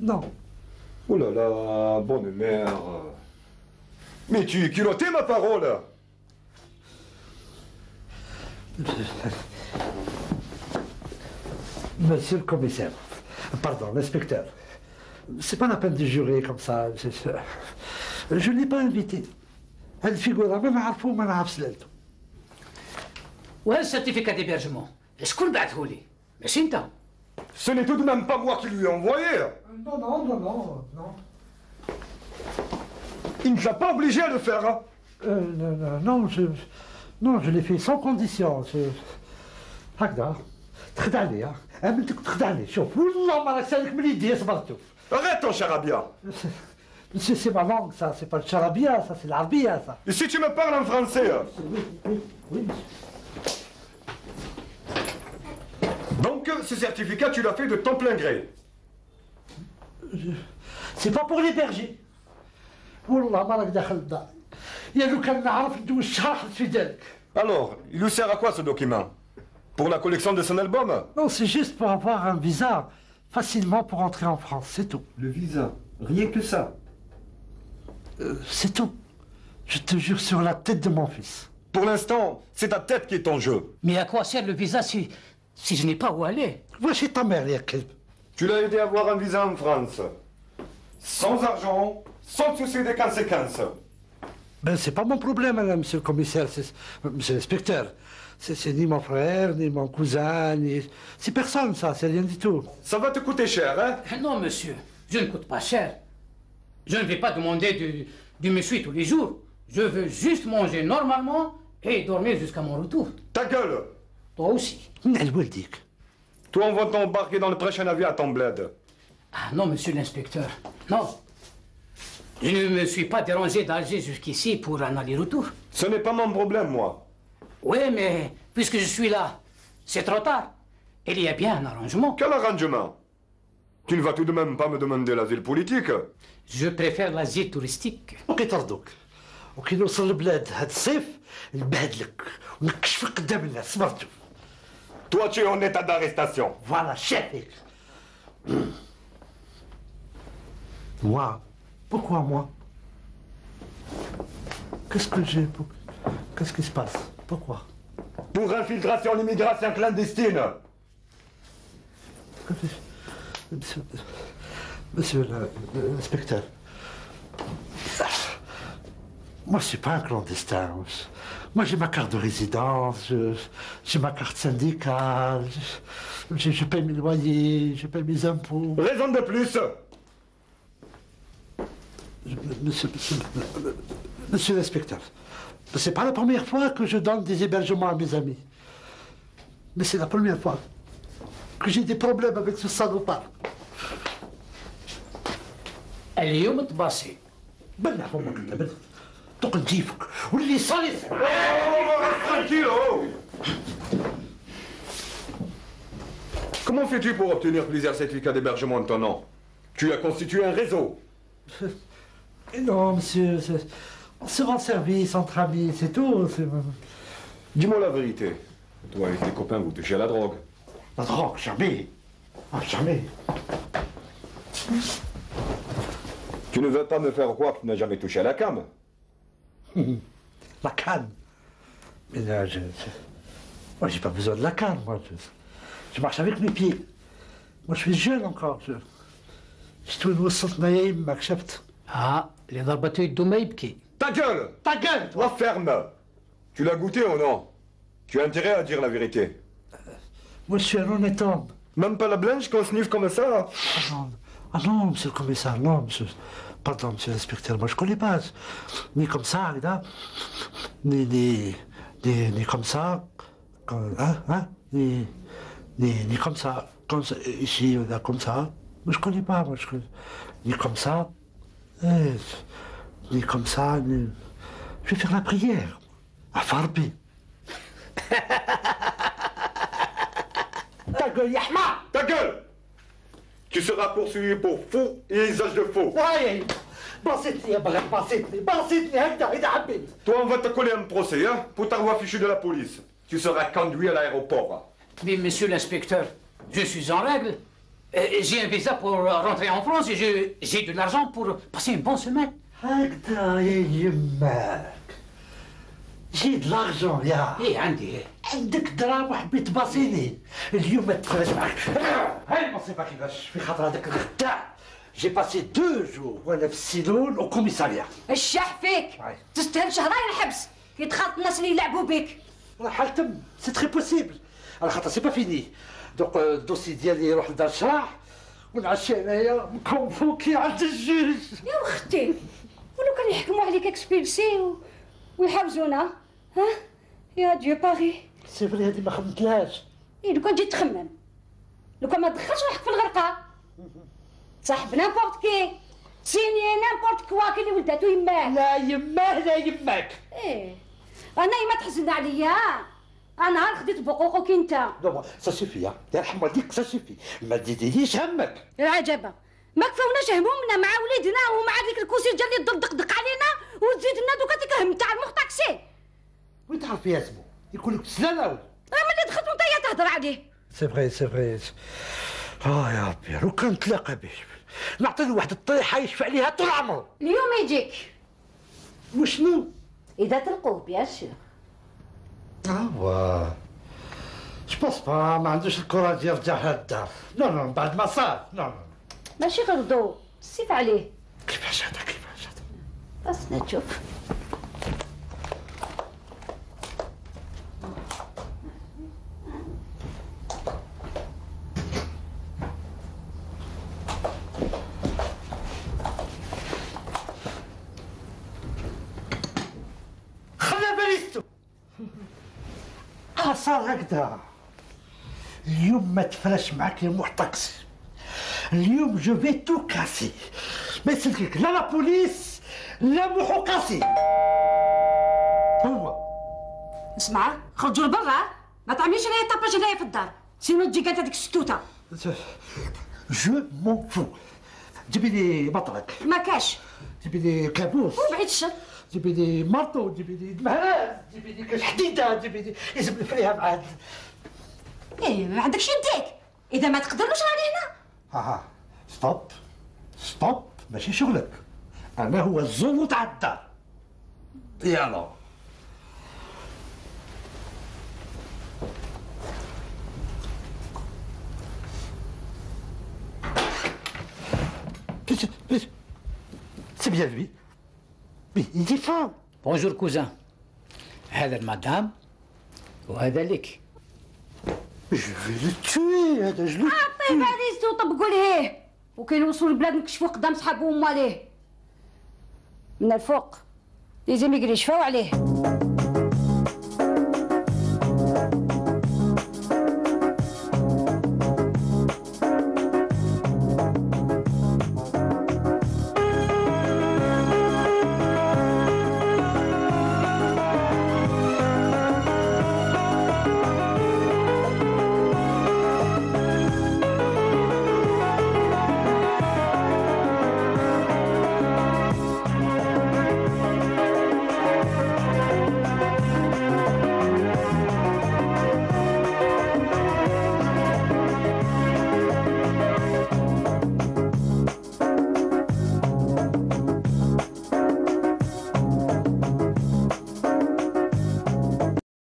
F: Non.
E: Oh là là, bonne mère. Mais tu culottais ma parole.
F: Monsieur le commissaire, pardon, l'inspecteur, c'est pas la peine de jurer comme ça. Je ne l'ai pas invité. Elle figure ما نعرفه ما نعرف سلالته.
D: وهذا السيرتيفيكا ديبيرجمون شكون بعثهولي؟ ماشي انت.
E: Ce n'est tout de même pas moi qui lui ai envoyé.
F: Non.
E: Il ne t'a pas obligé à le faire.
F: Non, je l'ai fait sans condition. هكذا تخدعني امنتك تخدعني شوف والله ما راك سالك من يدي صبرت.
E: Arrête ton charabia.
F: C'est ma langue, ça, c'est pas le charabia, ça, c'est l'arabia, ça.
E: Et si tu me parles en français?
F: Oui.
E: Donc, ce certificat, tu l'as fait de ton plein gré?
F: C'est pas pour les bergers. والله ما راك داخل الدار. يا لو كان نعرف ندوز شاحط في ذلك.
E: Alors, il lui sert à quoi ce document? Pour la collection de son album?
F: Non, c'est juste pour avoir un visa facilement pour entrer en France, c'est tout.
E: Le visa? Rien que ça?
F: C'est tout. Je te jure sur la tête de mon fils.
E: Pour l'instant, c'est ta tête qui est en jeu.
D: Mais à quoi sert le visa si je n'ai pas où aller?
F: Va chez ta mère, يا كلب.
E: Tu l'as aidé à avoir un visa en France. Sans argent, sans souci des conséquences.
F: Ben, c'est pas mon problème, madame, monsieur le commissaire, monsieur l'inspecteur. C'est ni mon frère, ni mon cousin, ni... C'est personne, ça, c'est rien du tout.
E: Ça va te coûter cher, hein?
D: Non, monsieur, je ne coûte pas cher. Je ne vais pas demander du monsieur tous les jours. Je veux juste manger normalement et dormir jusqu'à mon retour.
E: Ta gueule!
D: Toi aussi.
E: Toi, on va t'embarquer dans le prochain avion à ton bled.
D: Ah non, monsieur l'inspecteur, non. Je ne me suis pas dérangé d'Alger jusqu'ici pour un aller-retour.
E: Ce n'est pas mon problème, moi.
D: Oui, mais puisque je suis là, c'est trop tard. Il y a bien un arrangement.
E: Quel arrangement? Tu ne vas tout de même pas me demander l'asile politique?
D: Je préfère l'asile touristique.
F: وكيطردوك وكي نوصل للبلاد هاد الصيف نبهدلك ونكشفك قدام الناس صبرتوا.
E: Toi, tu es en état d'arrestation.
F: Voilà, chef. Moi? Pourquoi moi? Qu'est-ce que j'ai? Qu'est-ce qui se passe? Pourquoi?
E: Pour infiltration en immigration clandestine.
F: Monsieur l'inspecteur, moi je suis pas un clandestin. Moi j'ai ma carte de résidence, j'ai ma carte syndicale, je paye mes loyers, je paye mes impôts.
E: Raison de plus.
F: Monsieur l'inspecteur, c'est pas la première fois que je donne des hébergements à mes amis. Mais c'est la première fois que j'ai des problèmes avec ce salopard.
D: اليوم تباصي
F: بلع فمك انت بلع دوك نجيبك واللي صار يصير.
E: Comment fais-tu pour obtenir plusieurs certificats d'hébergement de ton nom? Tu as constitué un réseau.
F: Non, monsieur, on se rend service entre amis, c'est tout.
E: Dis-moi la vérité. Toi et tes copains, vous touchez à la drogue.
F: La drogue, jamais. Ah, jamais.
E: Tu ne veux pas me faire croire que tu n'as jamais touché à la cam?
F: La canne. Mais là, moi, j'ai pas besoin de la canne, moi. Je marche avec mes pieds. Moi, je suis jeune encore. Je وصلتنا يا يمك شفت.
D: اللي ضربته يده ما يبكي.
E: Ta gueule!
F: Ta gueule, toi!
E: La ferme! Tu l'as goûté ou non? Tu as intérêt à dire la vérité.
F: Moi, je suis un honnête homme.
E: Même pas la blanche qu'on sniffe comme ça?
F: Ah non, monsieur le commissaire, non, monsieur. Pardon, monsieur l'inspecteur, moi je connais pas. Ni comme ça, là. Ni comme ça. Ni comme ça. Comme ça. Ici, là, comme ça. Moi je connais pas, moi je connais. Ni comme ça. Ni comme ça. Ni... Je vais faire la prière. À Farbi. Ta gueule, Yahma!
E: Ta gueule! Tu seras poursuivi pour faux et usage de faux.
F: بسيطني يا بغي بسيطني هكذا إذا حبيت.
E: Toi, on va te coller un procès, hein, pour t'avoir fichu de la police. Tu seras conduit à l'aéroport.
D: Mais monsieur l'inspecteur, je suis en règle. J'ai un visa pour rentrer en France et j'ai de l'argent pour passer une bonne semaine.
F: هكذا يا يماك. جيد لارجون يا.
D: ايه عندي.
F: عندك دراهم وحبيت باصيني. اليوم ما تفرج معك. هاي المصيبة كيفاش في خاطر هذاك الخداع. J'ai passé 2 jours وانا في السيلون au commissariat.
I: الشح فيك تستاهل شهرين الحبس كي تخاط الناس اللي يلعبوا بك.
F: راح تم سي تري بوسيبل على خاطر سي با فيني دوك الدوسي ديالي يروح لدار الشراح ونعشي انايا مكونفوكي عند الجوج.
I: يا اختي ولو كان يحكموا عليك اكسبيلسي ويحبسونا ها يا ديو باري.
F: سي فري هذه ما خممتلهاش.
I: ايه لو كان جيت تخمم لو كان ما تدخلش روحك في الغرقه صاحب نامبورت كي سيني نامبورت كوا كي اللي ولداتو يماه.
F: لا يماه لا يماك.
I: ايه انا ما تحزن عليا انا نهار خديت بقوقك انت.
F: نو سا سوفي يا يرحم والديك سا سوفي ما تزيديش همك.
I: العجبه ما كفاوناش همومنا مع وليدنا ومع ديك الكوسيجه اللي تدقدق علينا وتزيد لنا دوكا ديك الهم تاع المخ طاكسي.
F: وين تعرف يا زبو يقول لك سلالة ولا؟
I: ملي دخلت وانت تهضر عليه.
F: سي فري سي فري. يا ربي لو كان نتلاقى به نعطي له واحد الطريحه يشفع عليها طول عمره.
I: اليوم يجيك.
F: وشنو؟
I: اذا تلقوه بيان سور.
F: واه جبونس با ما عندوش الكوراج يرجع للدار. نو بعد ما صار. نو
I: ماشي غير ضو سيف عليه.
F: كيفاش هذا كيفاش هذا؟
I: بس نشوف.
F: صار هكذا. اليوم ما تفرش معك يا محتكس. اليوم جو في تو كاسي. ما يسلكك لا لا بوليس لا محقاسي. هو
I: اسمع خرجوا لبرا ما تعمليش هنايا طاباج هنايا في الدار سينو تجي قالت هذيك الشتوته.
F: جو مون فو. جيبي لي مطرق.
I: ما كاش.
F: جيبي لي كابوس.
I: وبعيد الشر.
F: جيبي لي مرطو جيبي لي مهراز جيبي لي كاش حديده جيبي لي يجيب لي فيها معاد.
I: ايه ما عندكش يديك اذا ما تقدرلوش راني هنا.
F: ستوب ماشي شغلك. انا هو الزول تاع الدار. يلا c'est bien lui. Mais il est fort.
D: بونجور كوزان. هذا المدام وهذا لك.
F: جو في لو توي هذا جلو.
I: عطيه فاليزتو وطبقوا ليه وكاين وصلوا البلاد نكشفوا قدام صحابو وماليه من الفوق لازم يقري يشفاو عليه.